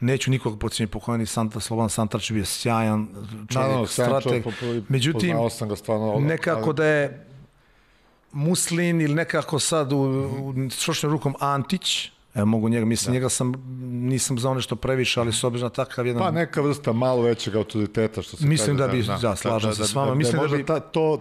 [SPEAKER 2] neću nikog podsjetiti, pokojni Slobodan Santarč bio sjajan čovjek, strateg. Međutim, nekako da je Muslin ili nekako sad u šošnjom rukom Antić, evo mogu njega, mislim, nisam znao nešto previše, ali s obzirom na takav jedan...
[SPEAKER 1] Pa neka vrsta malo većeg autoriteta, što se
[SPEAKER 2] mislim kaže. Mislim da bi, slažem se s vama.
[SPEAKER 1] Mislim da bi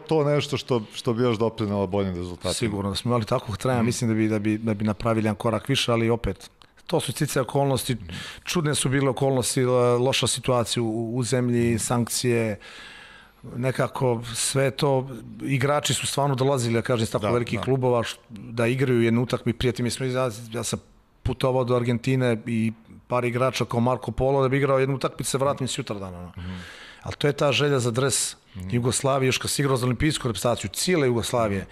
[SPEAKER 1] to nešto što bi još doprinalo boljim rezultatima.
[SPEAKER 2] Sigurno, da smo imali takvog trena, mislim da bi napravili jedan korak više, ali opet, to su sticaje okolnosti, čudne su bile okolnosti, loša situacija u zemlji, sankcije, nekako sve to, igrači su stvarno dolazili, ja kažem, iz tako velikih klubova, da igraju jednu utakmicu. Prijatelji mi smo, ja sam putovao do Argentine i par igrača kao Marko Polo da bi igrao jednu utakmicu, se vratim sutradan. Ali to je ta želja za dres Jugoslavije, još kad si igrao za olimpijsku reprezentaciju, cijele Jugoslavije,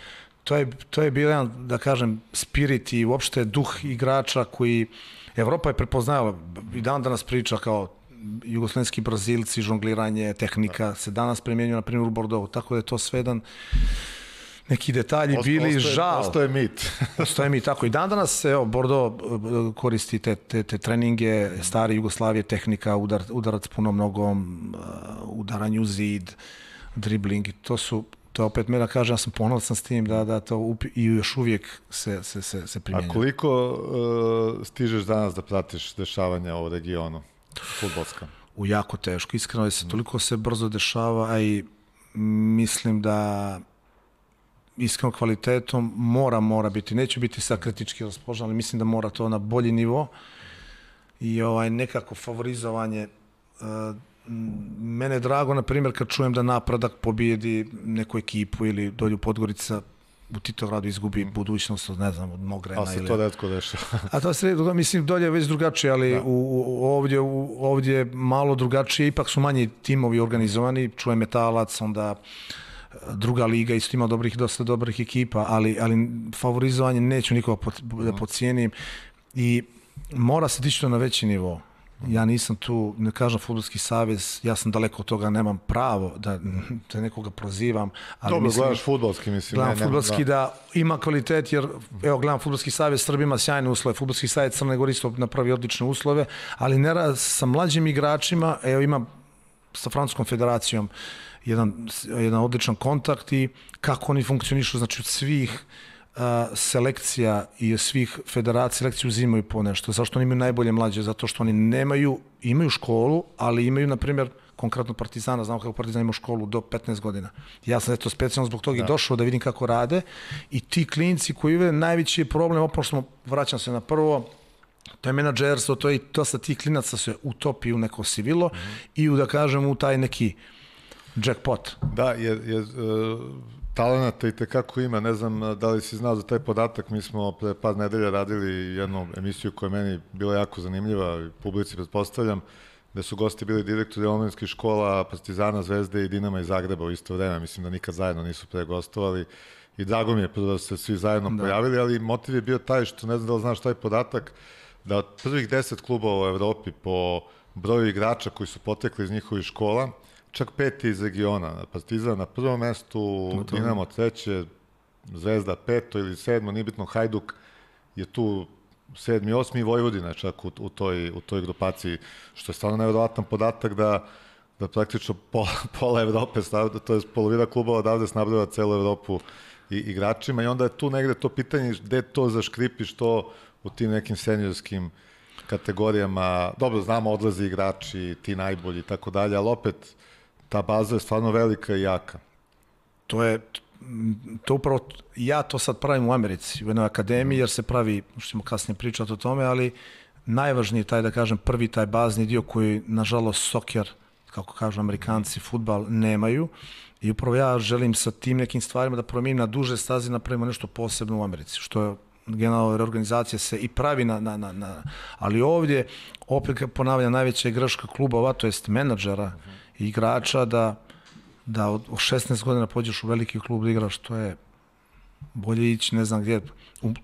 [SPEAKER 2] to je bio jedan, da kažem, spirit i uopšte duh igrača koji Evropa je prepoznala i dan danas priča kao jugoslovenski Brazilci, žongliranje, tehnika se danas primjenjuje na primjer u Bordeaux, tako da je to sve jedan neki detalji bili žal.
[SPEAKER 1] Ostaje mit.
[SPEAKER 2] Ostaje mit, tako i dan danas, evo, Bordeaux koristi te treninge, stare Jugoslavije, tehnika, udarac punom nogom, udaranje u zid, dribling, to opet mene kaže, ja sam ponosan s tim da to i još uvijek se primjenjuje.
[SPEAKER 1] A koliko stižeš danas da pratiš dešavanja u regionu, fudbalska?
[SPEAKER 2] U jako teško, iskreno je toliko se brzo dešava, a i mislim da iskreno kvalitetom mora biti, neću biti sad kritički raspoložen, ali mislim da mora to na bolji nivo i nekako favorizovanje. Mene je drago, na primjer, kad čujem da Napredak pobijedi neku ekipu ili dolju Podgorica, u Titogradu izgubi budućnost od, ne znam, od Mogrena.
[SPEAKER 1] Ali se to retko dešava.
[SPEAKER 2] A to se, mislim, dolje je već drugačije, ali ovdje je malo drugačije, ipak su manji timovi organizovani, čuje Metalac, onda druga liga, isto ima dosta dobrih ekipa, ali favorizovanje neću nikoga da podcijenim i mora se dići to na veći nivo. Ja nisam tu, ne kažem Fudbalski savez, ja sam daleko od toga, nemam pravo da nekoga prozivam. Ali
[SPEAKER 1] dobro, gledaš fudbalski, mislim.
[SPEAKER 2] Gledam fudbalski da ima kvalitet, jer evo gledam Fudbalski savez, Srbija ima sjajne uslove, Fudbalski savez Crne Gore isto napravi odlične uslove, ali ne sa mlađim igračima, evo ima sa Francuskom federacijom jedan odličan kontakt i kako oni funkcionišu, znači od svih selekcija i svih federacija selekciju uzimaju po nešto. Zašto oni imaju najbolje mlađe? Zato što oni imaju školu, ali imaju, na primjer, konkretno Partizana, znamo kako Partizan ima školu do 15 godina. Ja sam eto specijalno zbog toga i došao da vidim kako rade i ti klinci koji imaju najveći problem, vraćam se na prvo, to je menadžerstvo, to je dosta tih klinaca se utopi u neko sivilo i da kažem u taj neki jackpot.
[SPEAKER 1] Da, jer talenata i tekako ima, ne znam da li si znao za taj podatak, mi smo pre par nedelja radili jednu emisiju koja je meni bila jako zanimljiva, publici pretpostavljam, gde su gosti bili direktori omladinskih škola Partizana, Zvezde i Dinama iz Zagreba u isto vreme, mislim da nikad zajedno nisu pre gostovali i drago mi je da se svi zajedno pojavili, ali motiv je bio taj što, ne znam da li znaš taj podatak, da od prvih 10 klubova u Evropi po broju igrača koji su potekli iz njihovih škola, čak 5 iz regiona. Partizan na prvom mestu, Dinamo treće, Zvezda 5. ili 7. nije bitno, Hajduk je tu 7. 8. i Vojvodina čak u toj grupaciji, što je stvarno nevjerovatan podatak da praktično pola Evrope, to je polovina klubova odavde snabdeva celu Evropu i igračima i onda je tu negde to pitanje gde to zaškripi što u tim nekim seniorskim kategorijama, dobro, znamo, odlaze igrači, ti najbolji i tako dalje, ali opet ta baza je stvarno velika i jaka.
[SPEAKER 2] To upravo, ja to sad pravim u Americi, u jednoj akademiji, jer se pravi, ćemo kasnije pričati o tome, ali najvažniji taj, da kažem, prvi taj bazni dio koji, nažalost, soker, kako kažu Amerikanci, fudbal, nemaju. I upravo ja želim sa tim nekim stvarima da promijenim na duže staze, napravimo nešto posebno u Americi, što je generalna reorganizacija se i pravi ali ovdje, opet ponavljam, najveća greška klubova, to jest menadžera i igrača, da od 16 godina pođeš u veliki klub da igraš, to je bolje ići, ne znam gdje,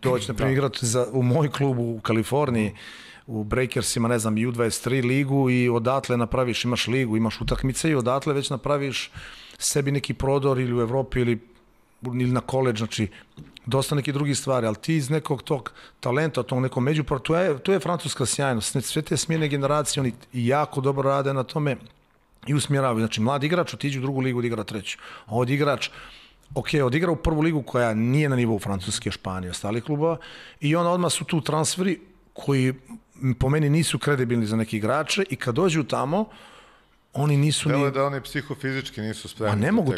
[SPEAKER 2] doći, na primjer, igrati u moj klub u Kaliforniji, u Breakersima, ne znam, U23 ligu i odatle napraviš, imaš ligu, imaš utakmice i odatle već napraviš sebi neki prodor ili u Evropi ili na koledž, znači dosta nekih drugih stvari, ali ti iz nekog tog talenta, tog nekog međupravo, to je francuska sjajnost, sve te smjene generacije, oni jako dobro rade na tome i usmjeravaju, znači mladi igrač otiđe u drugu ligu da igra treću, a od igrač odigra u prvu ligu koja nije na nivou Francuske, Španije, ostalih klubova i onda odmah su tu transferi koji po meni nisu kredibilni za neke igrače i kad dođu tamo, oni nisu
[SPEAKER 1] ni... da oni psihofizički nisu spremni.
[SPEAKER 2] Pa ne mogu,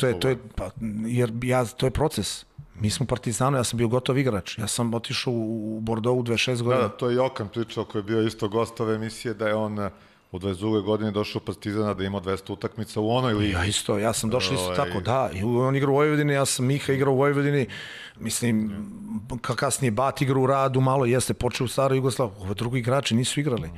[SPEAKER 2] to je proces. Mi smo Partizano, ja sam bio gotov igrač. Ja sam otišao u Bordeaux u 26 godina.
[SPEAKER 1] Da, to je Jokan pričao koji je bio isto gost ove emisije, da je on u 22. godini došao u Partizana da ima 200 utakmica u onoj ligi.
[SPEAKER 2] Ja isto, ja sam došao isto tako, da. I on igra u Vojvodini, ja sam Miha igrao u Vojvodini. Mislim, kasnije Bat igra u Radu, malo jeste, počeo u Staroj Jugoslaviji. Ove drugi igrači nisu igrali.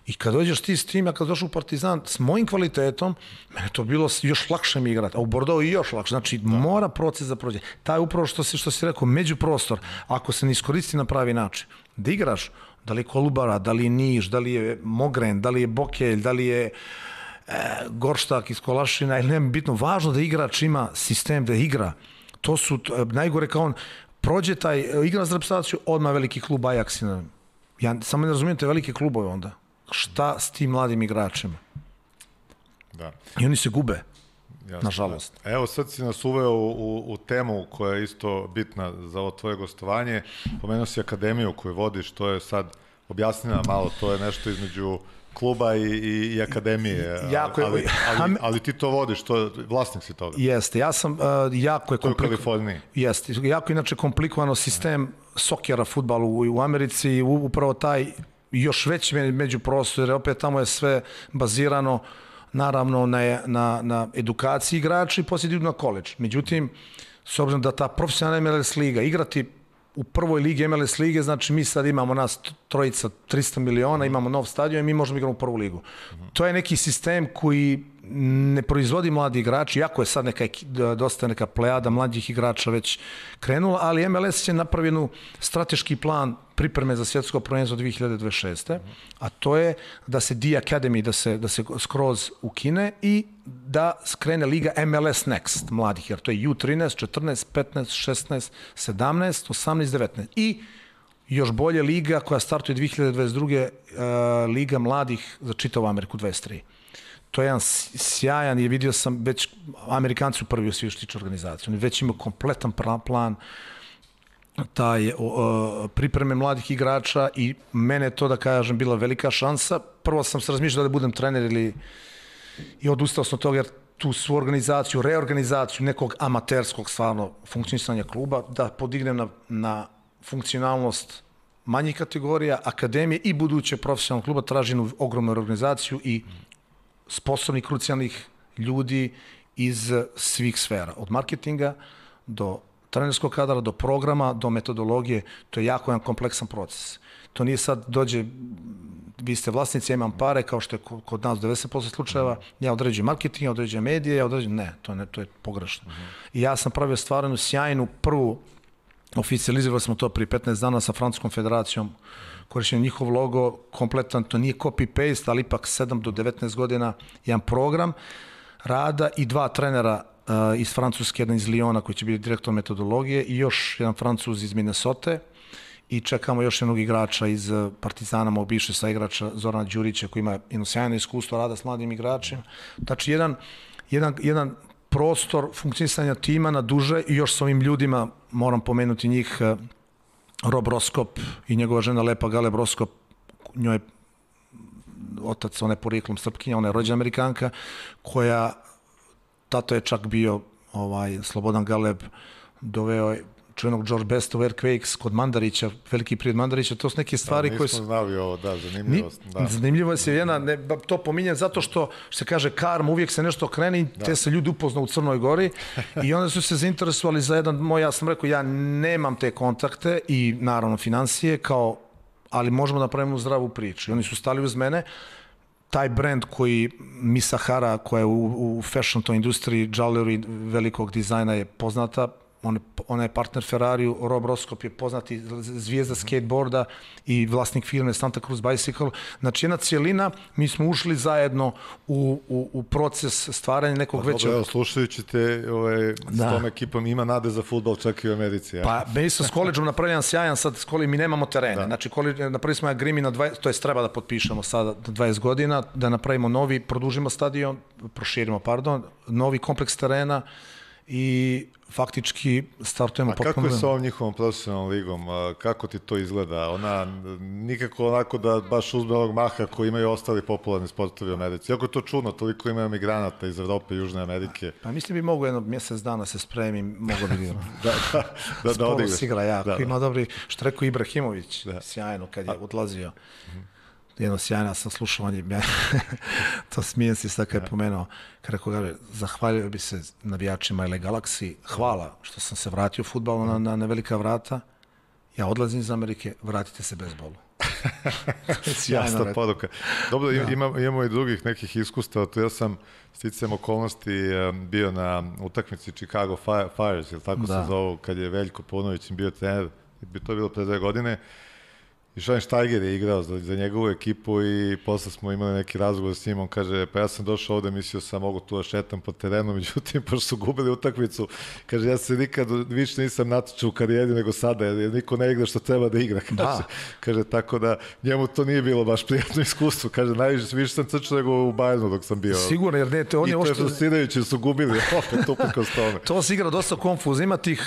[SPEAKER 2] I kad dođeš ti s tim, ja kad došao u Partizan, s mojim kvalitetom, mene to bilo još lakše mi igrati. A u Bordeaux i još lakše. Znači, mora proces da prođe. Taj upravo što si rekao, međuprostor, ako se ne iskoristi na pravi način, da igraš, da li je Kolubara, da li je Niš, da li je Mogren, da li je Bokelj, da li je Gorštak iz Kolašina, ili nema bitno, važno da igrač ima sistem da igra. To su, najgore kao on, prođe taj, igra za reprezentaciju, odmah veliki klub Ajax. Ja samo ne razumijem te velike klubove onda. Šta s tim mladim igračima?
[SPEAKER 1] Da.
[SPEAKER 2] I oni se gube.
[SPEAKER 1] Jasno,
[SPEAKER 2] nažalost.
[SPEAKER 1] Evo sad si nas uveo u temu koja je isto bitna za ovo tvoje gostovanje. Pomenuo si akademiju koju vodiš, to je sad, objasni nam malo, to je nešto između kluba i akademije, ali ti to vodiš, vlasnik si toga.
[SPEAKER 2] Jeste, ja sam jako je
[SPEAKER 1] komplikovan.
[SPEAKER 2] Jeste, jako inače komplikovano sistem sokera, fudbalu u Americi, upravo taj još veći međuprostor, jer opet tamo je sve bazirano naravno na edukaciji igrača i poslije idu na koledž. Međutim, s obzirom da ta profesionalna MLS liga, igrati u prvoj ligi MLS lige, znači mi sad imamo nas trojica 300 miliona, imamo nov stadion i mi možemo igrati u prvu ligu. To je neki sistem koji ne proizvodi mladi igrači, iako je sad dosta neka plejada mlađih igrača već krenula, ali MLS je napravio strateški plan pripreme za svjetsko prvenstvo 2026. A to je da se D-Academy, da se skroz ukine i da skrene liga MLS Next mladih, jer to je U13, 14, 15, 16, 17, 18, 19. I još bolje liga koja startuje 2022. Liga mladih za čitavu Ameriku 23. To je jedan sjajan i vidio sam već Amerikanci u prvi u svijetu tiče organizaciju. Oni već imaju kompletan plan taj pripreme mladih igrača i mene je to, da kažem, bila velika šansa. Prvo sam se razmišljao da budem trener i odustao sam od toga jer tu svu organizaciju, reorganizaciju nekog amaterskog stvarno funkcionisanja kluba da podignem na funkcionalnost manjih kategorija, akademije i buduće profesionalnog kluba traži jednu ogromnu organizaciju i sposobnih, krucijalnih ljudi iz svih sfera. Od marketinga do trenerskog kadra, do programa, do metodologije. To je jako jedan kompleksan proces. To nije sad dođe, vi ste vlasnici, ja imam pare, kao što je kod nas 90% slučajeva, ja određujem marketing, ja određujem medije, ja određujem... Ne, to je pogrešno. I ja sam pravio stvarnu sjajnu prvu, oficializirali smo to prije 15 dana sa Francuskom federacijom, korišćen njihov logo, kompletan, to nije copy-paste, ali ipak 7 do 19 godina, jedan program rada i 2 trenera iz Francuske, jedan iz Lyona koji će biti direktor metodologije i još jedan Francuz iz Minnesota i čekamo još jednog igrača iz Partizana, mog bivšeg saigrača Zorana Đurića koji ima jedno sjajno iskustvo rada s mladim igračima. Znači jedan prostor funkcionisanja tima na duže i još s ovim ljudima, moram pomenuti njih, Rob Roskop i njegova žena Lepa Galeb Roskop, njoj je otac, ona je porijeklom Srpkinja, ona je rođena Amerikanka, koja, tato je čak bio Slobodan Galeb, doveo čuvenog George Besta u Earthquakes kod Mandarića, veliki prijed Mandarića, to su neke stvari koje su...
[SPEAKER 1] Nismo znali ovo, zanimljivost.
[SPEAKER 2] Zanimljivo je to pominjem zato što se kaže karma, uvijek se nešto kreni, te se ljudi upoznao u Crnoj Gori i onda su se zainteresovali za jedan moj, ja sam rekao, ja nemam te kontakte i naravno financije, ali možemo da napravimo zdravu priču. I oni su stali uz mene, taj brand koji Misa Hara, koja je u fashion toj industriji, jewelry, velikog dizajna je poznata, ona je partner Ferrariju, Rob Roskop je poznati zvijezda skateboarda i vlasnik firme Santa Cruz Bicycle. Znači jedna cijelina, mi smo ušli zajedno u proces stvaranja nekog većeg...
[SPEAKER 1] Evo, slušajući te s tom ekipom, ima nade za fudbal čak i u Americi. Ja?
[SPEAKER 2] Pa, mi smo s koleđom napravili jedan sjajan, sad s koleđom mi nemamo terene. Znači, napravili smo jedan grimi na 20, to je treba da potpišemo sada 20 godina, da napravimo novi, produžimo stadion, proširimo, novi kompleks terena i faktički startujemo potpuno...
[SPEAKER 1] A kako je sa ovom njihovom profesionalnom ligom? Kako ti to izgleda? Ona nikako onako da baš uzme onog maha koji imaju ostali popularni sportovi u Americi. Iako je to čudno, toliko imaju migranata iz Evrope i Južne Amerike.
[SPEAKER 2] Pa mislim bi mogu jedno mjesec dana se spremim, mogu bi igrati.
[SPEAKER 1] da odigraš.
[SPEAKER 2] Sporo igra jako. Ima dobri, što rekao Ibrahimović, sjajno kad je odlazio. Jedno sjajno sam slušao, to smijem se sad kad je pomenuo, kad rekao, zahvalio bi se navijačima LA Galaxy, hvala što sam se vratio u fudbalu na velika vrata, ja odlazim iz Amerike, vratite se bezbolu.
[SPEAKER 1] Jasna poruka. Dobro, imamo i drugih nekih iskustava, to ja sam sticajem okolnosti bio na utakmici Chicago Fires, ili tako se zovu, kad je Veljko Paunović bio trener, to je bilo pre 2 godine, i Schweinsteiger je igrao za njegovu ekipu i posle smo imali neki razgovor s njim, on kaže, pa ja sam došao ovde, mislio sam mogu tu da šetam po terenu, međutim, pošto su gubili utakmicu, kaže, ja se nikad više nisam natječao u karijeri nego sada, jer niko ne igra što treba da igra, kaže, tako da njemu to nije bilo baš prijatno iskustvo, kaže, najviše sam crčao nego u Bayernu dok sam bio.
[SPEAKER 2] Sigurno, jer ne,
[SPEAKER 1] to je frustrirajuće, jer su gubili opet uprkos tome.
[SPEAKER 2] To se igra dosta konfuzno, ima tih,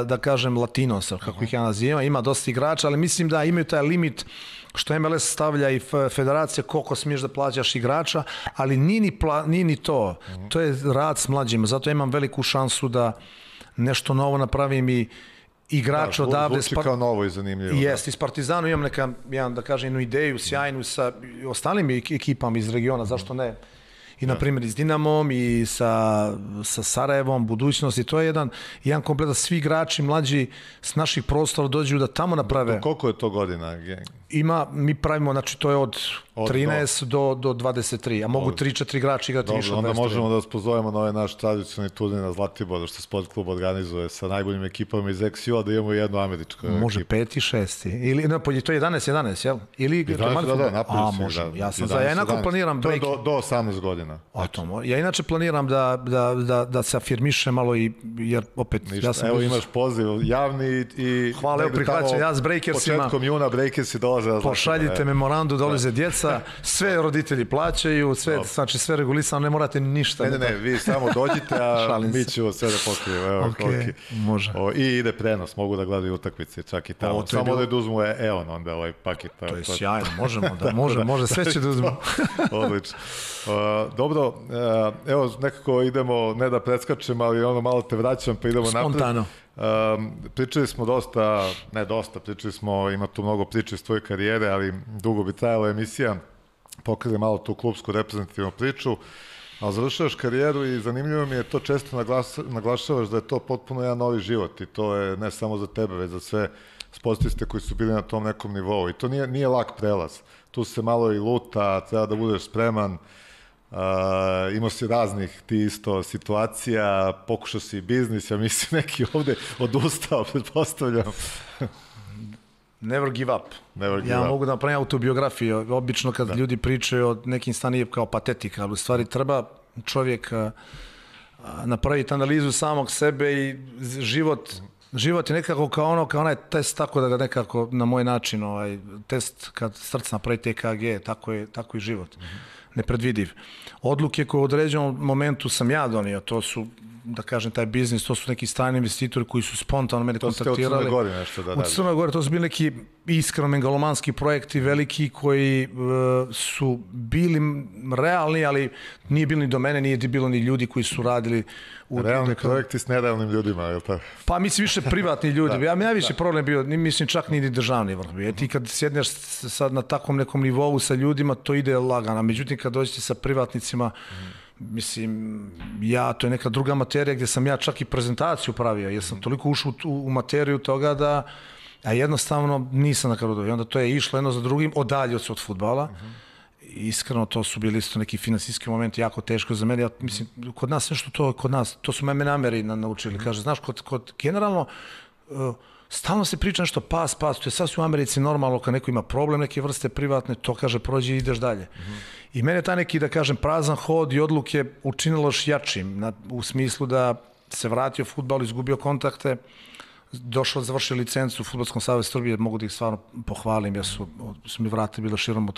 [SPEAKER 2] da kažem, latinosa, kako ih ja nazivam, ima dosta igrača, ali mislim da imaju taj limit što MLS stavlja i federacija koliko smiješ da plaćaš igrača, ali nije ni to. To je rad s mlađima, zato imam veliku šansu da nešto novo napravim i igrač odavde...
[SPEAKER 1] Zvuči kao novo i zanimljivo.
[SPEAKER 2] Jest, iz Partizanu imam da kažem, jednu ideju sjajnu sa ostalim ekipama iz regiona, zašto ne? i na primjer i s Dinamom i sa Sarajevom, budućnosti, to je jedan kompletan, svi igrači mlađi s naših prostora dođu da tamo naprave.
[SPEAKER 1] Koliko je to godina?
[SPEAKER 2] Mi pravimo, znači to je od 13 do 23, a mogu 3-4 igrača igrati više od 23.
[SPEAKER 1] Onda možemo da vas pozovemo na ovaj naš tradicionalni turnir na Zlatiboru, što sport klub organizuje sa najboljim ekipama iz XU-a, da imamo jednu američku ekipu.
[SPEAKER 2] Može 5 i 6. Ili, ne, to je 11, jel? Ili,
[SPEAKER 1] napravili
[SPEAKER 2] može. Ja inako planiram break.
[SPEAKER 1] To je do 18 godina.
[SPEAKER 2] Ja inače planiram da se afirmiše malo, jer opet...
[SPEAKER 1] Evo imaš poziv javni i...
[SPEAKER 2] Hvala, evo prihvaćam, ja s breakersima...
[SPEAKER 1] Početkom juna breakersi dolaze.
[SPEAKER 2] Pošaljite memorandu, dolaze djeca, sve roditelji plaćaju, znači sve regulisano, ne morate ništa.
[SPEAKER 1] Ne, vi samo dođite, a mi ćemo sve da pokrijemo.
[SPEAKER 2] Može.
[SPEAKER 1] I ide prenos, mogu da gledaju utakmice, čak i tamo. Samo da uzmu EON, onda ovaj paket.
[SPEAKER 2] To je sjajno, može, sve će da uzmu.
[SPEAKER 1] Odlično. Dobro, evo nekako idemo, ne da preskačem, ali ono malo te vraćam, pa idemo napred.
[SPEAKER 2] Spontano.
[SPEAKER 1] Pričali smo pričali smo, ima tu mnogo priče iz tvoje karijere, ali dugo bi trajala emisija, pokrije malo tu klubsku reprezentativnu priču, ali završavaš karijeru i zanimljivo mi je to, često naglašavaš da je to potpuno jedan novi život i to je ne samo za tebe, već za sve sportiste koji su bili na tom nekom nivou i to nije lak prelaz, tu se malo i luta, treba da budeš spreman. Imao si raznih ti isto situacija, pokušao si i biznis, ja mislim neki ovde odustao, pretpostavljam.
[SPEAKER 2] Never give up. Mogu da napravim autobiografiju, obično kad ljudi pričaju o nekim stanima kao patetika, ali u stvari treba čovjek napraviti analizu samog sebe i život je nekako kao onaj test, tako da ga nekako na moj način, test kad srce napravi TKG, tako i život. Nepredvidiv. Odluke koje u određenom momentu sam ja donio, to su, da kažem, taj biznis, to su neki strani investitori koji su spontano mene kontaktirali. To ste u Crnoj
[SPEAKER 1] Gori nešto da radi.
[SPEAKER 2] U Crnoj Gori, to su bili neki iskreno megalomanski projekti, veliki, koji su bili realni, ali nije bilo ni do mene, nije bilo ni ljudi koji su radili.
[SPEAKER 1] Realni projekti s nerealnim ljudima, je li tako?
[SPEAKER 2] Pa mislim više privatni ljudi. Ja najviše problem bio, mislim čak ni državni vrh. Ti kad sjedneš sad na takvom nekom nivou sa ljudima, to ide lagano. Međutim, kad dođete sa privatnicima, mislim, to je neka druga materija gdje sam ja čak i prezentaciju pravio, jer sam toliko ušao u materiju toga da jednostavno nisam na kraju. I onda to je išlo jedno za drugim, odalje od fudbala. Iskreno, to su bili isto neki finansijski momenti jako teško za mene. Ja mislim, kod nas nešto to su mene Ameri naučili. Kaže, znaš, generalno, stalno se priča nešto pas, to je sasvim u Americi normalno kad neko ima problem, neke vrste privatne, to kaže prođi i ideš dalje. I mene taj neki, da kažem, prazan hod i odluke učinilo još jačim, u smislu da se vratio fudbal, izgubio kontakte, došao, završio licencu u Fudbalskom savezu Srbije, mogu da ih stvarno pohvalim, jer su mi vrate bilo širom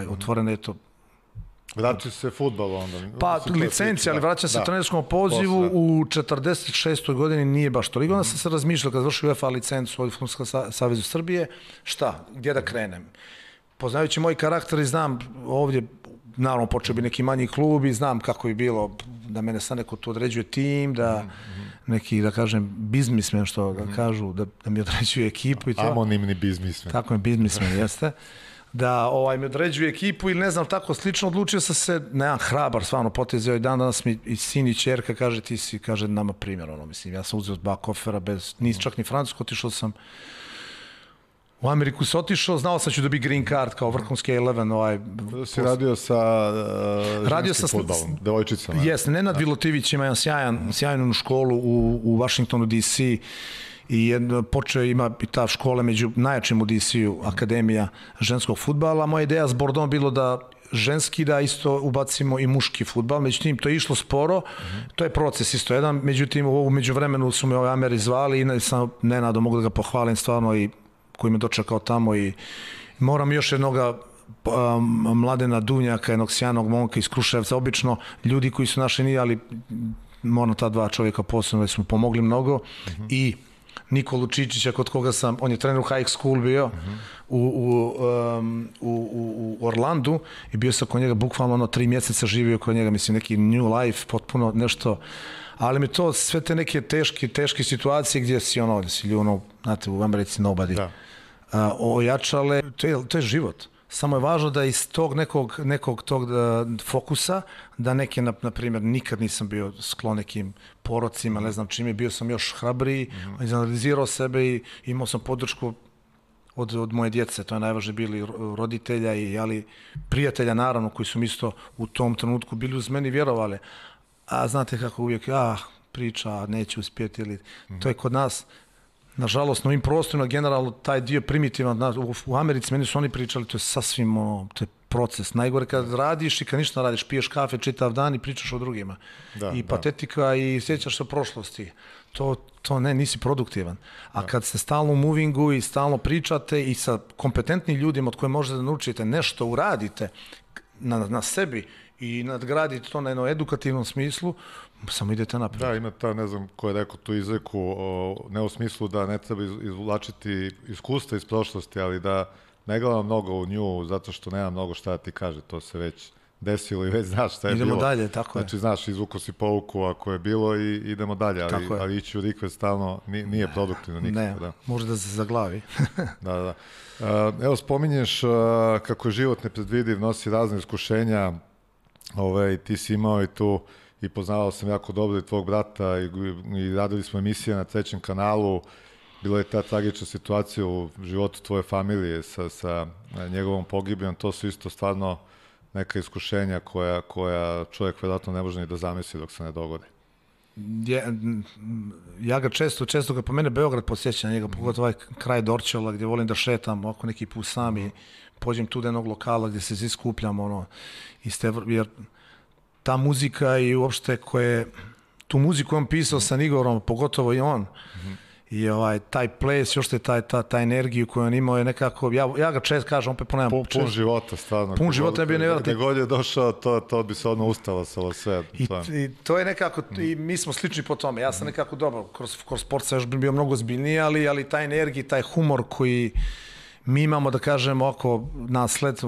[SPEAKER 2] otvorene,
[SPEAKER 1] Vraćaju se fudbalu onda?
[SPEAKER 2] Pa licencija, ali vraćam se trenerskom pozivu u 46. godini, nije baš toliko. Onda sam se razmišljao kad završio UEFA licencu u Fudbalskom savezu Srbije, gdje da krenem? Poznajući moj karakter i znam ovdje, naravno počeo bi neki manji klub i znam kako bi bilo da mene sad neko tu određuje tim, da neki, da kažem, biznismen, što da kažu, da mi određuje ekipu.
[SPEAKER 1] Anonimni biznismen.
[SPEAKER 2] Tako je, biznismen, jeste. Da mi određuje ekipu ili ne znam, tako slično, odlučio sam se na jedan hrabar, stvarno potez. Danas mi i sin i ćerka kaže, ti si, kaže, nama primjer, mislim, ja sam uzeo 2 kofera, nisi čak ni Francusku, otišao sam u Ameriku se otišao, znao sam ću da bi green card kao vrhunski 11.
[SPEAKER 1] Si radio sa ženskim fudbalom, devojčicama?
[SPEAKER 2] Jesne, Nenad Vilotivić ima jedan sjajnu školu u Washingtonu DC i počeo ima i ta škola među najjačim u DC-u, Akademija ženskog fudbala. Moja ideja s Bordom bilo da ženski da isto ubacimo i muški fudbal, međutim to je išlo sporo, to je proces isto jedan, međutim u međuvremenu su me Ameri zvali i sam Nenado mogu da ga pohvalim stvarno i koji me dočekao tamo i moram još jednoga Mladena Dunjaka, jednog sjajnog momka iz Kruševca, obično ljudi koji su naši nije, ali moram ta 2 čovjeka posebno da su mu pomogli mnogo i Nikolu Čičića kod koga sam, on je trener u high school bio u Orlandu i bio sam kod njega bukvalno 3 mjeseca živio kod njega, mislim neki new life, potpuno nešto, ali mi to sve te neke teške situacije gdje si znate, u Americi nobody ojačale, to je život. samo je važno da iz tog nekog tog fokusa, da neke, na primjer, nikad nisam bio sklon nekim porocima, ne znam čime, bio sam još hrabriji, izanalizirao sebe i imao sam podršku od moje djece, to je najvažnije, bili roditelja ali prijatelja naravno, koji su mi isto u tom trenutku bili uz meni, vjerovali. A znate kako uvijek, priča, neće uspjeti, ili to je kod nas, nažalost, na ovim prostorima generalno taj dio primitivan. U Americi meni su oni pričali, to je sasvim to je proces. Najgore kad radiš i kad ništa radiš, piješ kafe čitav dan i pričaš o drugima. Patetika i sjećaš se o prošlosti. To ne, nisi produktivan. A kad ste stalno u movingu i stalno pričate i sa kompetentnim ljudima od koje možete da naučite nešto, uradite na sebi i nadgradite to na jednom edukativnom smislu, samo idete naprijed.
[SPEAKER 1] Da, ima ta, ne znam ko je rekao tu izreku, ne u smislu da ne treba izvlačiti iskustva iz prošlosti, ali da ne gledam mnogo u nju, zato što nema mnogo šta da ti kaže, to se već desilo i već znaš šta je bilo.
[SPEAKER 2] Idemo dalje, tako je.
[SPEAKER 1] Znači, znaš, izvuko si pouku ako je bilo i idemo dalje, ali ići u rikve stalno nije produktivno nikako.
[SPEAKER 2] Ne, može da se zaglavi.
[SPEAKER 1] Da. Evo, spominješ kako je život nepredvidiv, nosi razne iskušenja, ti si imao i tu, i poznavao sam jako dobro i tvog brata i radili smo emisije na Trećem kanalu. Bila je ta tragična situacija u životu tvoje familije sa njegovom pogibijom. To su isto stvarno neka iskušenja koja čovjek vjerojatno ne može ni da zamisli dok se ne dogode.
[SPEAKER 2] Ja ga često ga po mene Beograd posjeća, njega pogotovo ovaj kraj Dorćola gdje volim da šetam oko neki put sam i pođem tu do jednog lokala gdje se iskupljam, jer ta muzika i uopšte tu muziku on pisao sa Igorom, pogotovo i on. I taj ples, još ta energiju koju on imao je nekako, ja ga često kažem, opet ponavljam.
[SPEAKER 1] Pun života, stvarno.
[SPEAKER 2] Pun života je bio nevjerojatno.
[SPEAKER 1] Gdje god je došao, to bi se odmah ustalo sa ovo sve.
[SPEAKER 2] I to je nekako, i mi smo slični po tome. Ja sam nekako dobro, kroz sport sam još bio mnogo zbiljniji, ali taj energija, taj humor koji mi imamo, da kažemo, oko nasled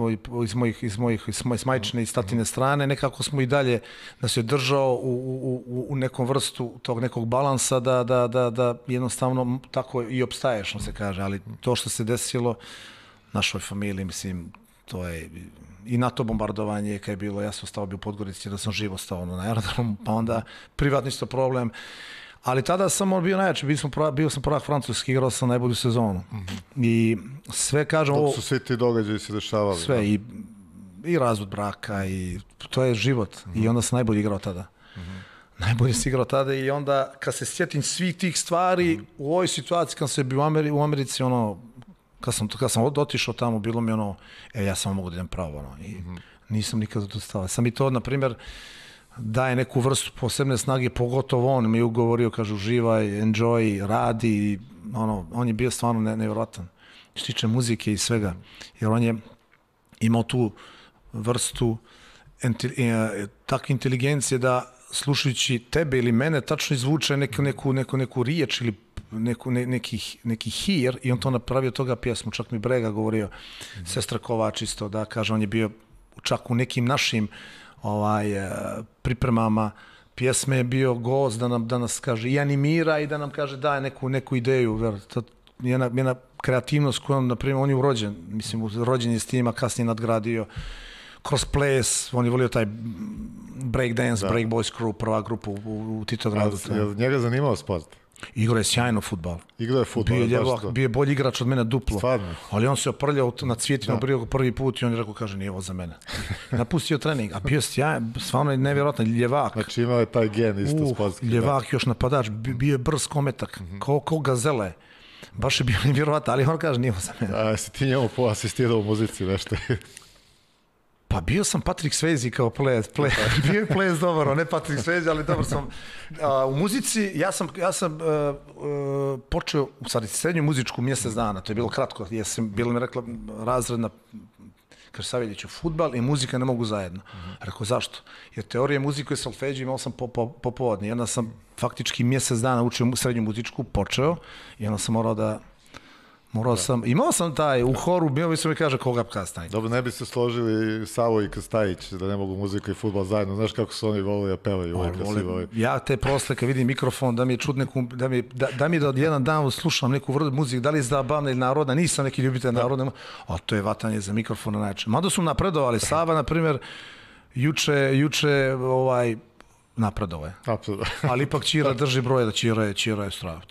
[SPEAKER 2] iz majčine i statine strane, nekako smo i dalje da se držao u nekom vrstu tog nekog balansa da jednostavno tako i opstaješ, se kaže, ali to što se desilo našoj familiji, mislim, to je i NATO bombardovanje kad je bilo, ja sam stao bio u Podgorici da sam živo stao na aerodromu, pa onda privatni isto problem. Ali tada sam bio najjači, bio sam prvak francuski, igrao sam najbolju sezonu. I sve kažem...
[SPEAKER 1] Dok su svi ti događaji se dešavali.
[SPEAKER 2] Sve, i razvod braka, i to je život. I onda sam najbolji igrao tada. Najbolje si igrao tada i onda kad se sjetim svih tih stvari, u ovoj situaciji kad sam bio u Americi, kad sam otišao tamo, bilo mi ja samo mogu da idem pravo. I nisam nikad odustao. Sam i to, na primjer, daje neku vrstu posebne snage, pogotovo on mi je ugovorio, kaže, uživaj, enjoy, radi, on je bio stvarno nevjerojatan. Što tiče muzike i svega, jer on je imao tu vrstu takve inteligencije da slušajući tebe ili mene tačno izvuče neku riječ ili neki hir i on to napravio toga pjesmu, čak mi Brega govorio, Sestra Kovač isto, da kaže, on je bio čak u nekim našim pripremama pjesme je bio gost da nas kaže i animira i da nam kaže daje neku ideju. Jedna kreativnost kojom, na primjer, on je urođen, mislim, rođen je s tim, a kasnije nadgradio kroz ples, on je volio taj breakdance, break boys crew, prva grupa u Titogradu.
[SPEAKER 1] Je njega zanimao sport?
[SPEAKER 2] Igrao je sjajno fudbal.
[SPEAKER 1] Igrao je fudbal,
[SPEAKER 2] bio je bolji igrač od mene duplo.
[SPEAKER 1] Stvarno.
[SPEAKER 2] Ali on se oprljao na cvijetima prvi put i on je rekao, kaže, nije ovo za mene. Napustio trening, a bio sjajan, stvarno je nevjerojatno, ljevak.
[SPEAKER 1] Znači imao je taj gen isto sportski.
[SPEAKER 2] Ljevak, još napadač, bio je brz kometak, kao gazele. Baš je bio nevjerojatno, ali on kaže, nije ovo za mene.
[SPEAKER 1] A si ti njemu asistirao u muzici nešto?
[SPEAKER 2] Pa bio sam Patrick Swayze kao ples. Bio je ples dobar, ne Patrick Swayze, ali dobar sam. U muzici, ja sam počeo, u stvari, srednju muzičku mjesec dana, to je bilo kratko, bilo mi rekla razredna, kaže, Saveljiću, fudbal i muzika ne mogu zajedno. Rekao, zašto? Jer teorije muzike i solfeđi imao sam popodne. I onda sam faktički mjesec dana učio srednju muzičku, počeo i onda sam morao Imao sam taj, u horu, bio bi se mi kaže koga kastaj.
[SPEAKER 1] Dobro, ne bi se složili Savo i Krstajić, da ne mogu muzika i fudbal zajedno. Znaš kako su oni volili da pevaju uvijek.
[SPEAKER 2] Ja te posle kad vidim mikrofon, da mi je čut neku, da mi da jedan dan slušam neku vrdu muziku, da li je zabavna ili narodna, nisam neki ljubitelj narodna, a to je vatanje za mikrofon na način. Mada su napredovali, Sava, na primjer, juče napredovao je. Ali ipak Ćira drži broje da Ćira je strava.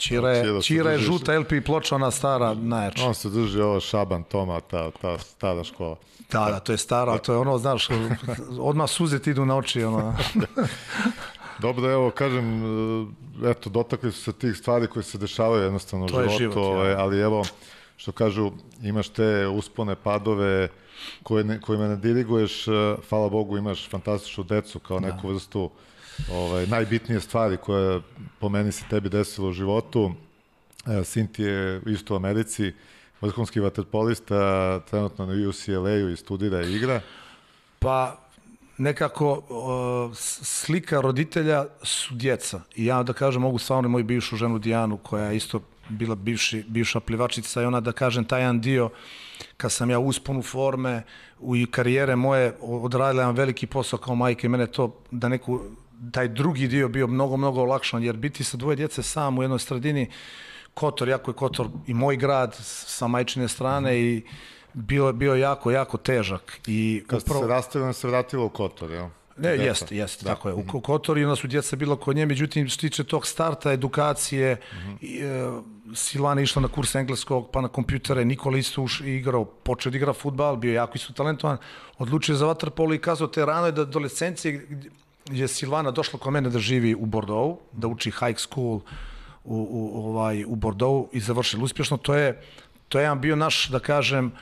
[SPEAKER 2] Ćira je žuta LP ploča, ona stara, najjača.
[SPEAKER 1] On se drži ovo Šaban, Toma, ta stara škola.
[SPEAKER 2] Da, to je stara, to je ono, znaš, odmah suze ti idu na oči.
[SPEAKER 1] Dobro, evo, kažem, eto, dotakli su se tih stvari koje se dešavaju jednostavno u životu, ali evo, što kažu, imaš te uspone, padove, kojima ne diriguješ, hvala Bogu, imaš fantastičnu decu kao neku vrstu najbitnije stvari koje po meni se tebi desilo u životu. Sin ti je isto u Americi, vrhunski vaterpolista, trenutno na UCLA-u i studira i igra.
[SPEAKER 2] Pa nekako slika roditelja su djeca. I ja da kažem, mogu stvarno moju bivšu ženu Dijanu, koja je isto bila bivša plivačica, i ona da kažem taj jedan dio, kad sam ja usponu forme u karijere moje, odradila jedan veliki posao kao majke, mene to da taj drugi dio bio mnogo olakšan, jer biti sa dvoje djece sam u jednoj sredini, Kotor, jako je Kotor i moj grad sa majčine strane, i bio jako težak.
[SPEAKER 1] Kad ste se rastavili, se vratilo u Kotor, jel?
[SPEAKER 2] Ne, jeste, tako je. U Kotor, i onda su djeca bila kod nje, međutim, što tiče tog starta, edukacije, Silvana je išla na kurs engleskog, pa na kompjutere, Nikola isto igrao, počeo da igra fudbal, bio jako isto talentovan, odlučio za vaterpolo i kazao te ranoj adolescencije, gdje je Silvana došla kod mene da živi u Bordeaux, da uči high school u Bordeaux i završila uspješno. To je jedan bio naš, da kažem,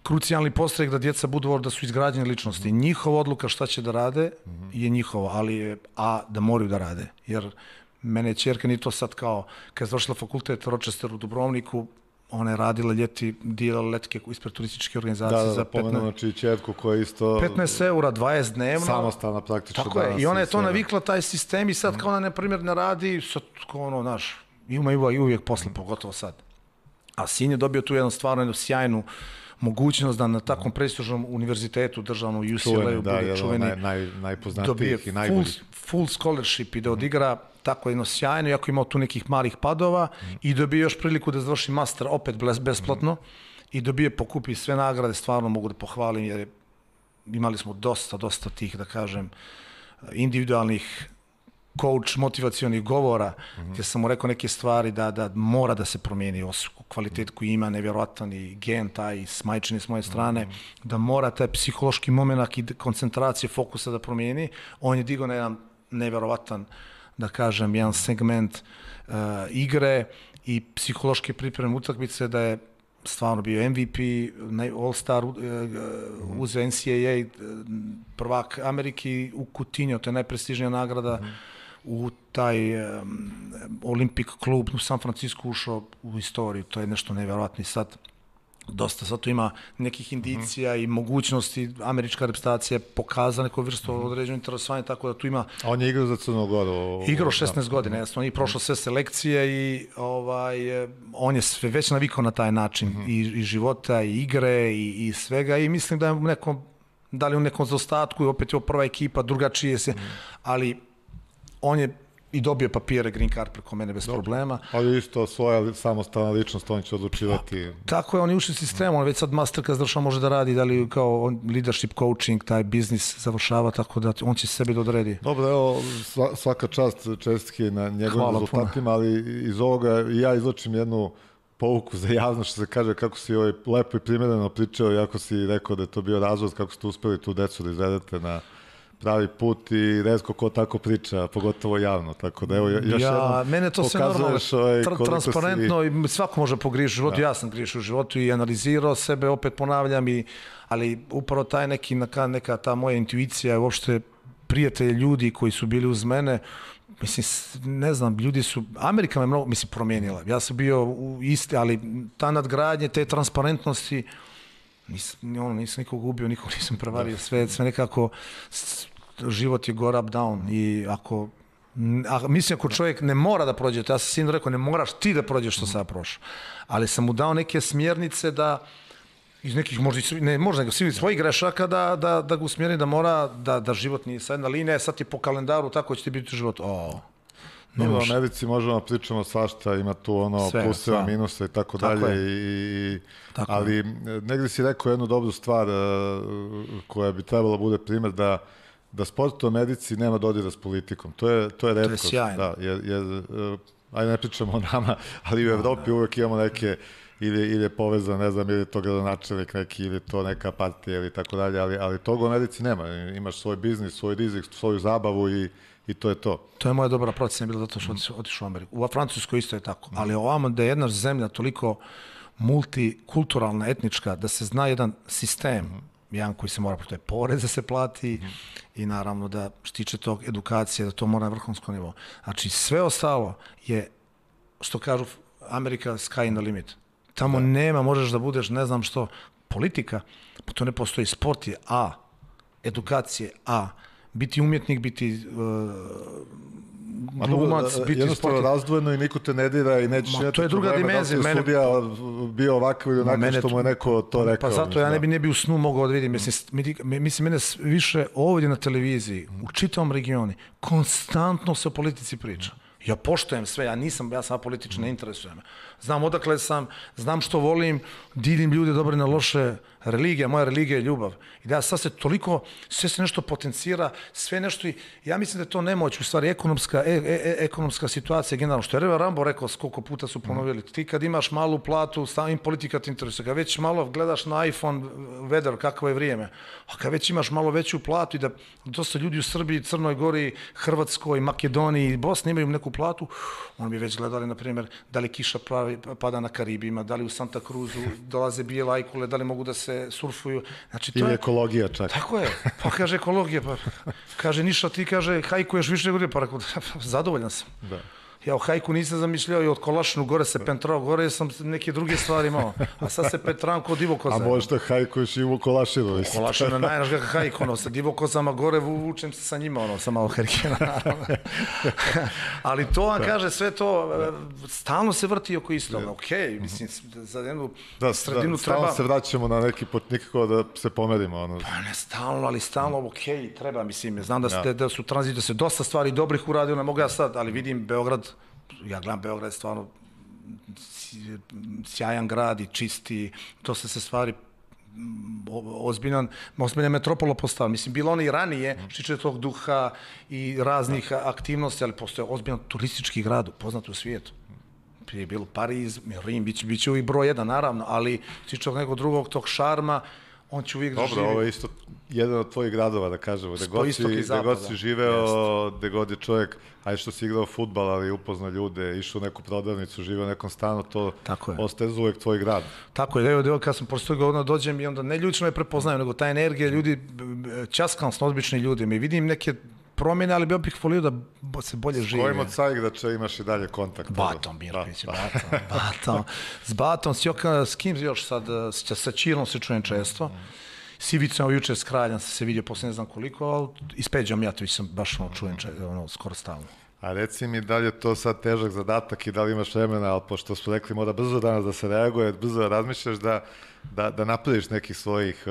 [SPEAKER 2] krucijalni postrek da djeca budu da su izgrađene ličnosti. Njihova odluka šta će da rade je njihova, ali da moraju da rade. Jer mene ćerka nije to sad kao, kad je završila fakultet Rochester u Dubrovniku, ona je radila ljeti, dijelala letke ispred turističke organizacije za 15...
[SPEAKER 1] Da, znači ćerku koja isto...
[SPEAKER 2] 15 eura, 20 dnevno.
[SPEAKER 1] Samostalna praktično.
[SPEAKER 2] Tako je, i ona je to navikla, taj sistem, i sad kao ona, na primjer, ne radi, sad kao ono, znaš, ima i uvijek posle, pogotovo sad. A sin je dobio tu jednu sjajnu mogućnost da na takvom prestižnom univerzitetu, državnom UCLA-u, bude čuveni,
[SPEAKER 1] najpoznatijih i najboljih.
[SPEAKER 2] Full scholarship i da odigra tako jedno sjajno, iako imao tu nekih malih padova, i dobio još priliku da završi master opet besplatno, i dobije, pokupi sve nagrade, stvarno mogu da pohvalim, jer imali smo dosta tih, da kažem, individualnih coach motivacionih govora, gdje sam mu rekao neke stvari da mora da se promijeni kvalitet koji ima, nevjerojatan, i gen taj s majčine s moje strane, da mora taj psihološki moment i koncentracije, fokusa da promijeni. On je digao na jedan nevjerovatan, da kažem, jedan segment igre i psihološke pripreme utakmice, da je stvarno bio MVP, All-Star, uzeo NCAA, prvak Amerike u Coutinho, to je najprestižnija nagrada, u taj Olympic klub u San Francisco ušao u istoriju, to je nešto nevjerojatno. Sad tu ima nekih indicija i mogućnosti, američka reprezentacija pokazala neku vrstu određenog interesovanja, tako da tu ima...
[SPEAKER 1] A on je igrao za Crnu Goru?
[SPEAKER 2] Igrao 16 godina, jasno, on je prošao sve selekcije i on je sve već navikao na taj način i života, i igre, i svega, i mislim da je da li u nekom zaostatku, i opet je prva ekipa, drugačije se, ali on je i dobio papire, green card preko mene bez problema.
[SPEAKER 1] Ali isto svoja samostalna ličnost, on će odlučivati.
[SPEAKER 2] Tako je, on je ušli sistem, on već sad master kad završava može da radi, da li kao leadership coaching, taj biznis završava, tako da on će sebi da odredi.
[SPEAKER 1] Dobro, evo, svaka čast, čestitke na njegovim rezultatima, ali iz ovoga ja izločim jednu pouku za javnost, što se kaže, kako si lepo i primjereno pričao, jako si rekao da je to bio razvod, kako ste uspeli tu decu da izvedete na pravi put, i retko ko tako priča, pogotovo javno, tako da evo još jednom
[SPEAKER 2] mene to sve normalno, transparentno, i svako može pogriješiti u životu, ja sam griješio u životu i analizirao sebe, opet ponavljam, ali upravo taj neka ta moja intuicija, uopšte prijatelji, ljudi koji su bili uz mene, mislim, ne znam, ljudi su, Amerika me mnogo, mislim, promijenila, ja sam bio isti, ali ta nadgradnje, te transparentnosti, nisam nikog ubio, nikog nisam prevario, sve nekako, život je go up down, i ako A mislim, ako čovjek ne mora da prođe, ja sam sinu rekao, ne moraš ti da prođeš što sad prošao. Ali sam mu dao neke smjernice da iz nekih možda svojih grešaka da ga usmjeri da mora, da život nije sad jedna linija, sad ti po kalendaru tako će ti biti život.
[SPEAKER 1] U Americi možemo pričamo svašta, ima tu pluseva, minusa i tako dalje, ali negdje si rekao jednu dobru stvar koja bi trebala bude primjer da sport u Americi nema dodira s politikom. To je retkost.
[SPEAKER 2] To je sjajno.
[SPEAKER 1] Jer, ajde ne pričamo o nama, ali u Evropi uvek imamo neke ili je povezan, ne znam, ili je to gradonačelnik neki, ili je to neka partija ili tako dalje, ali toga u Americi nema. Imaš svoj biznis, svoj rizik, svoju zabavu i to je to.
[SPEAKER 2] To je moja dobra procena bila zato što otišao u Ameriku. U Francuskoj isto je tako, ali ovamo da je jedna zemlja toliko multikulturalna, etnička, da se zna jedan sistem, jedan koji se mora, to je porez da se plati i naravno da štiče tog edukacije, da to mora na vrhunskom nivou. Znači sve ostalo je, što kažu Amerika, sky in the limit. Tamo nema, možeš da budeš, ne znam što, politika, pa to ne postoji. Sport je A, edukacije A, biti umjetnik, biti glumac, biti
[SPEAKER 1] jednostavno razdvojeno i niko te ne dira i nećeš
[SPEAKER 2] to je druga dimenzija.
[SPEAKER 1] Da li je sudija bio ovako ili onako što mu je neko to rekao.
[SPEAKER 2] Pa zato ja ne bi u snu mogao da vidim. Mislim, mene više ovdje na televiziji, u čitavom regionu, konstantno se o politici priča. Ja poštujem sve, ja sam politički, ne interesujem. Znam odakle sam, znam što volim, dilim ljude dobre na loše, religija, moja religija je ljubav. I da sad se toliko, sve se nešto potencira, sve nešto i ja mislim da je to nemoć, u stvari ekonomska situacija generalno. Što je Reva Rambo rekao, koliko puta su ponovili, ti kad imaš malu platu, stavim politika te interesuje, kad već malo gledaš na iPhone, weather, kakvo je vrijeme, a kad već imaš malo veću platu i da dosta ljudi u Srbiji, Crnoj Gori, Hrvatskoj, Makedoniji i Bosni imaju neku platu, oni bi već gledali, na primjer, da li kiša pada na Karibima, da li u Santa Cruzu dolaze bijele ajkule, da li mogu da se surfuju. Znači, to
[SPEAKER 1] ili ekologija čak.
[SPEAKER 2] Tako je. Pa kaže ekologija, pa kaže Niša, ti kaže hajkuješ više nego pa rekao, zadovoljan sam. Da. Ja o hajku nisam zamišljao i od Kolašinu gore se pentrao, gore sam neke druge stvari imao. A sad se petram kod Divokoza.
[SPEAKER 1] A možda hajkuješ i u Kolašinu.
[SPEAKER 2] U Kolašinu je najnaš ga hajku, sa Divokozama gore vučem se sa njima, sa malo herkena, naravno. Ali to vam kaže, sve to, stalno se vrti oko istoga. Okej, mislim, za jednu sredinu treba...
[SPEAKER 1] Stalno se vraćamo na neki put, nikako da se pomerimo.
[SPEAKER 2] Pa ne stalno, ali stalno, okej, treba, mislim, znam da su tranzit, da se dosta stvari dobrih uradio, ne mogu ja sad, ali vidim Beograd, ja gledam Beograd je stvarno sjajan grad i čisti, dosta se stvari ozbiljna metropola postala. Mislim, bilo ono i ranije, štiče tog duha i raznih aktivnosti, ali postoje ozbiljan turistički grad, poznat u svijetu. Prije je bilo Pariz, Rim, bit će uvijek broj 1, naravno, ali štiče nekog drugog tog šarma, on će uvijek da živi.
[SPEAKER 1] Dobro, ovo je isto jedan od tvojih gradova, da kažemo, gde god si živeo, gde god je čovjek, ajde što si igrao fudbal, ali upoznao ljude, išao u neku prodavnicu, živeo u nekom stanu, to ostaje za uvijek tvoj grad.
[SPEAKER 2] Tako je, evo kad sam posle toga dođem i onda ne ljudi što me prepoznaju, nego ta energija, ljudi, časkam s obični ljudi, mi vidim neke promjene, ali bi opet volio da se bolje živi.
[SPEAKER 1] S kojim od Carigrada imaš i dalje kontakt?
[SPEAKER 2] Batom, Mirković, Batom. S Batom, s kim još sad, sa Ćirom se čujem često. S Ivicom, juče s Kraljem sam se vidio posle ne znam koliko, ali i s Peđom Mijatović sam baš čujem skoro stalno.
[SPEAKER 1] A reci mi da li je to sad težak zadatak i da li imaš vremena, ali pošto smo rekli mora brzo danas da se reaguje, brzo da razmišljaš da napraviš nekih svojih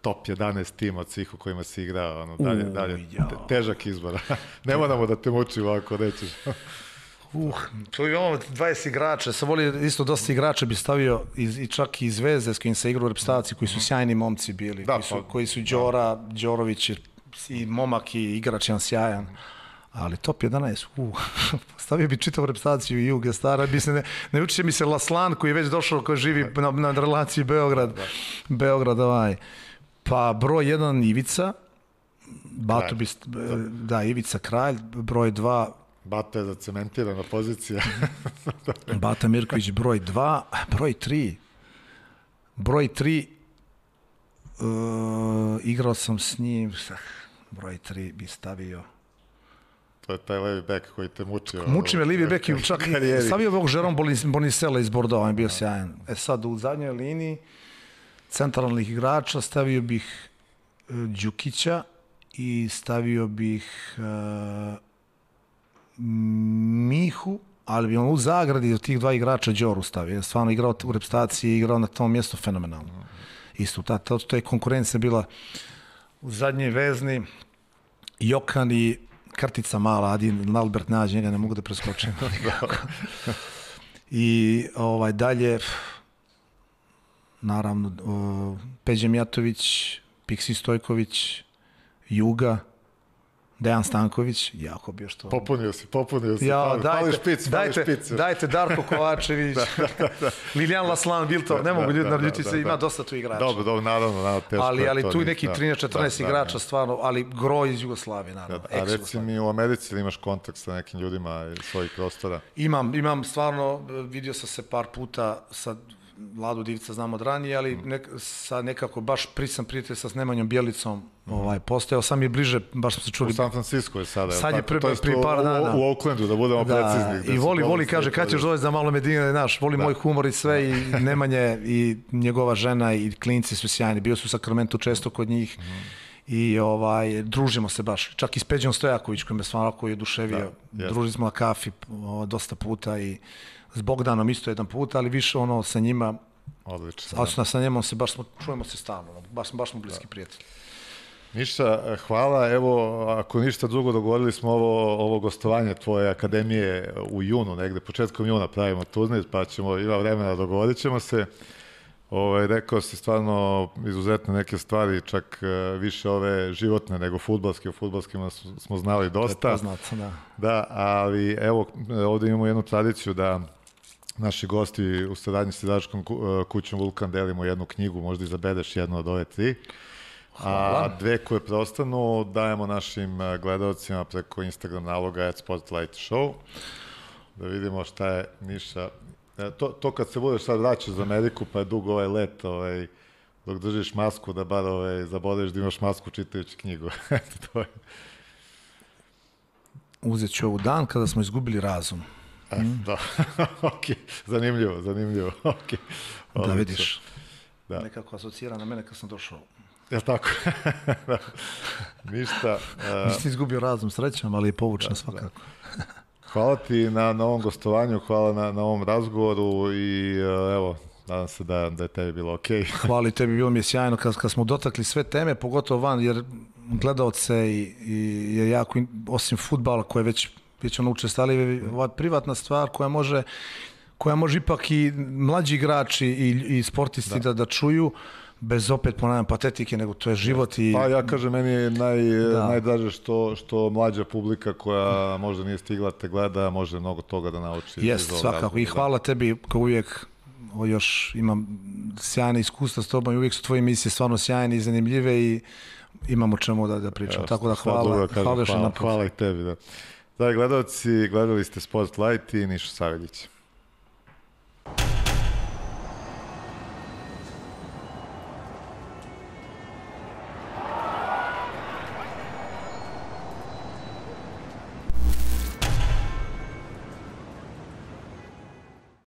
[SPEAKER 1] top 11 tima od svih u kojima si igrao, dalje, težak izbor. Ne moramo da te mučimo ako nećeš.
[SPEAKER 2] To je ovo 20 igrača, sam volio isto dosta igrača bi stavio čak i iz Zvezde s kojim se igrao u reprezentaciji, koji su sjajni momci bili, koji su Đorović i momak i igrač jedan sjajan. Ali top 11, stavio bi čitavu reprezentaciju i Juge Stara, ne uči mi se Laslan koji je već došao, koji živi na relaciji Beograd, pa broj 1 Ivica, Ivica Kralj, broj 2
[SPEAKER 1] Bata je zacementirana pozicija.
[SPEAKER 2] Bata Mirković broj 2, broj 3, igrao sam s njim, broj 3 bi stavio.
[SPEAKER 1] To je taj levi bek koji te mučio.
[SPEAKER 2] Muči me levi bek i čak stavio ovog Jérôme Bonisela iz Bordeaux, on je bio sjajan. Sad u zadnjoj liniji centralnih igrača stavio bih Đukića i stavio bih Mihu, ali bi on u zagradi od tih dva igrača Đoru stavio. Je stvarno igrao u reprezentaciji i igrao na tom mjestu fenomenalno. Isto, to je konkurencija bila u zadnjoj vezni, Jokan i Krtica mala, Adin Albert nađe, njega ne mogu da preskočim. I dalje, naravno, Peđa Mijatović, Piksi Stojković, Juga, Dejan Stanković, jako bio što...
[SPEAKER 1] Popunio si.
[SPEAKER 2] Ja,
[SPEAKER 1] Fali špic.
[SPEAKER 2] Dajte Darko Kovačević, Lilijan Laslan, Biltor, ne mogu ljudi narediti se, ima dosta tu igrača.
[SPEAKER 1] Dobro, naravno, teško
[SPEAKER 2] ali
[SPEAKER 1] to
[SPEAKER 2] tu neki 13-14 igrača stvarno, ali groj iz Jugoslavije, naravno.
[SPEAKER 1] A reci mi, u Americi li imaš kontakt sa nekim ljudima iz svojih prostora?
[SPEAKER 2] Imam stvarno, vidio sam se par puta sa Vladu Divica, znam od ranije, ali sa nekako baš sam prijatelj sa Nemanjom Bjelicom postojao, sam je bliže, baš smo se čuli.
[SPEAKER 1] U San Francisco je sada.
[SPEAKER 2] Sad je prije par dana.
[SPEAKER 1] U Oaklandu, da budemo precizni.
[SPEAKER 2] I voli, kaže, kad ćeš doći za malo Medine, naš, voli moj humor i sve, i Nemanje, i njegova žena, i klinci su sjajni, bio su u Sakramentu često kod njih. I družimo se baš, čak i s Peđom Stojaković koji me stvarno je oduševio, družili smo na kafi dosta puta i s Bogdanom isto jedan put, ali više sa njima,
[SPEAKER 1] odlično.
[SPEAKER 2] Sa njemom čujemo se stalno, baš smo bliski prijatelji.
[SPEAKER 1] Ništa, hvala, evo, ako ništa drugo, dogovorili smo ovo gostovanje tvoje akademije u junu, negde, početkom juna pravimo turnir, pa ima vremena, dogovorit ćemo se. Rekao si stvarno izuzetne neke stvari, čak više ove životne nego fudbalske. O fudbalskima smo znali dosta.
[SPEAKER 2] To je poznato, da.
[SPEAKER 1] Da, ali evo, ovdje imamo jednu tradiciju da naši gosti u saradnji s izdavačkom kućom Vulkan delimo jednu knjigu, možda izabereš jednu od ove 3.
[SPEAKER 2] Hvala.
[SPEAKER 1] A 2 koje preostanu dajemo našim gledalcima preko Instagram naloga @SportlightShow. Da vidimo šta je Niša. To kad se budeš sad vraćao za Ameriku, pa je dug let, dok držiš masku, da bar zaboraviš da imaš masku čitajući knjigu. To je.
[SPEAKER 2] Uzet ću ovu dan kada smo izgubili razum.
[SPEAKER 1] Da, ok, zanimljivo, ok.
[SPEAKER 2] Da vidiš, nekako asocira na mene kad sam došao.
[SPEAKER 1] Jel' tako? Ništa.
[SPEAKER 2] Nisi izgubio razum, srećam, ali je povučen svakako.
[SPEAKER 1] Hvala ti na ovom gostovanju, hvala na ovom razgovoru i evo, nadam se da je tebi bilo ok.
[SPEAKER 2] Hvala i tebi, bilo mi je sjajno kad smo dotakli sve teme, pogotovo van, jer gledaoce je jako, osim fudbala koje već učestali, ova privatna stvar koja može ipak i mlađi igrači i sportisti da čuju, bez opet ponavljam patetike, nego to je život.
[SPEAKER 1] Pa ja kažem, meni je najdraže što mlađa publika koja možda nije stigla te gleda, može mnogo toga da nauči.
[SPEAKER 2] Jeste, svakako. I hvala tebi, kao uvijek, još imam sjajne iskustva s tobom i uvijek su tvoje emisije stvarno sjajne i zanimljive i imamo čemu da pričam. Tako da hvala još jedan put.
[SPEAKER 1] Hvala i tebi. Dragi gledalci, gledali ste Sport Light i Nišu Saveljić.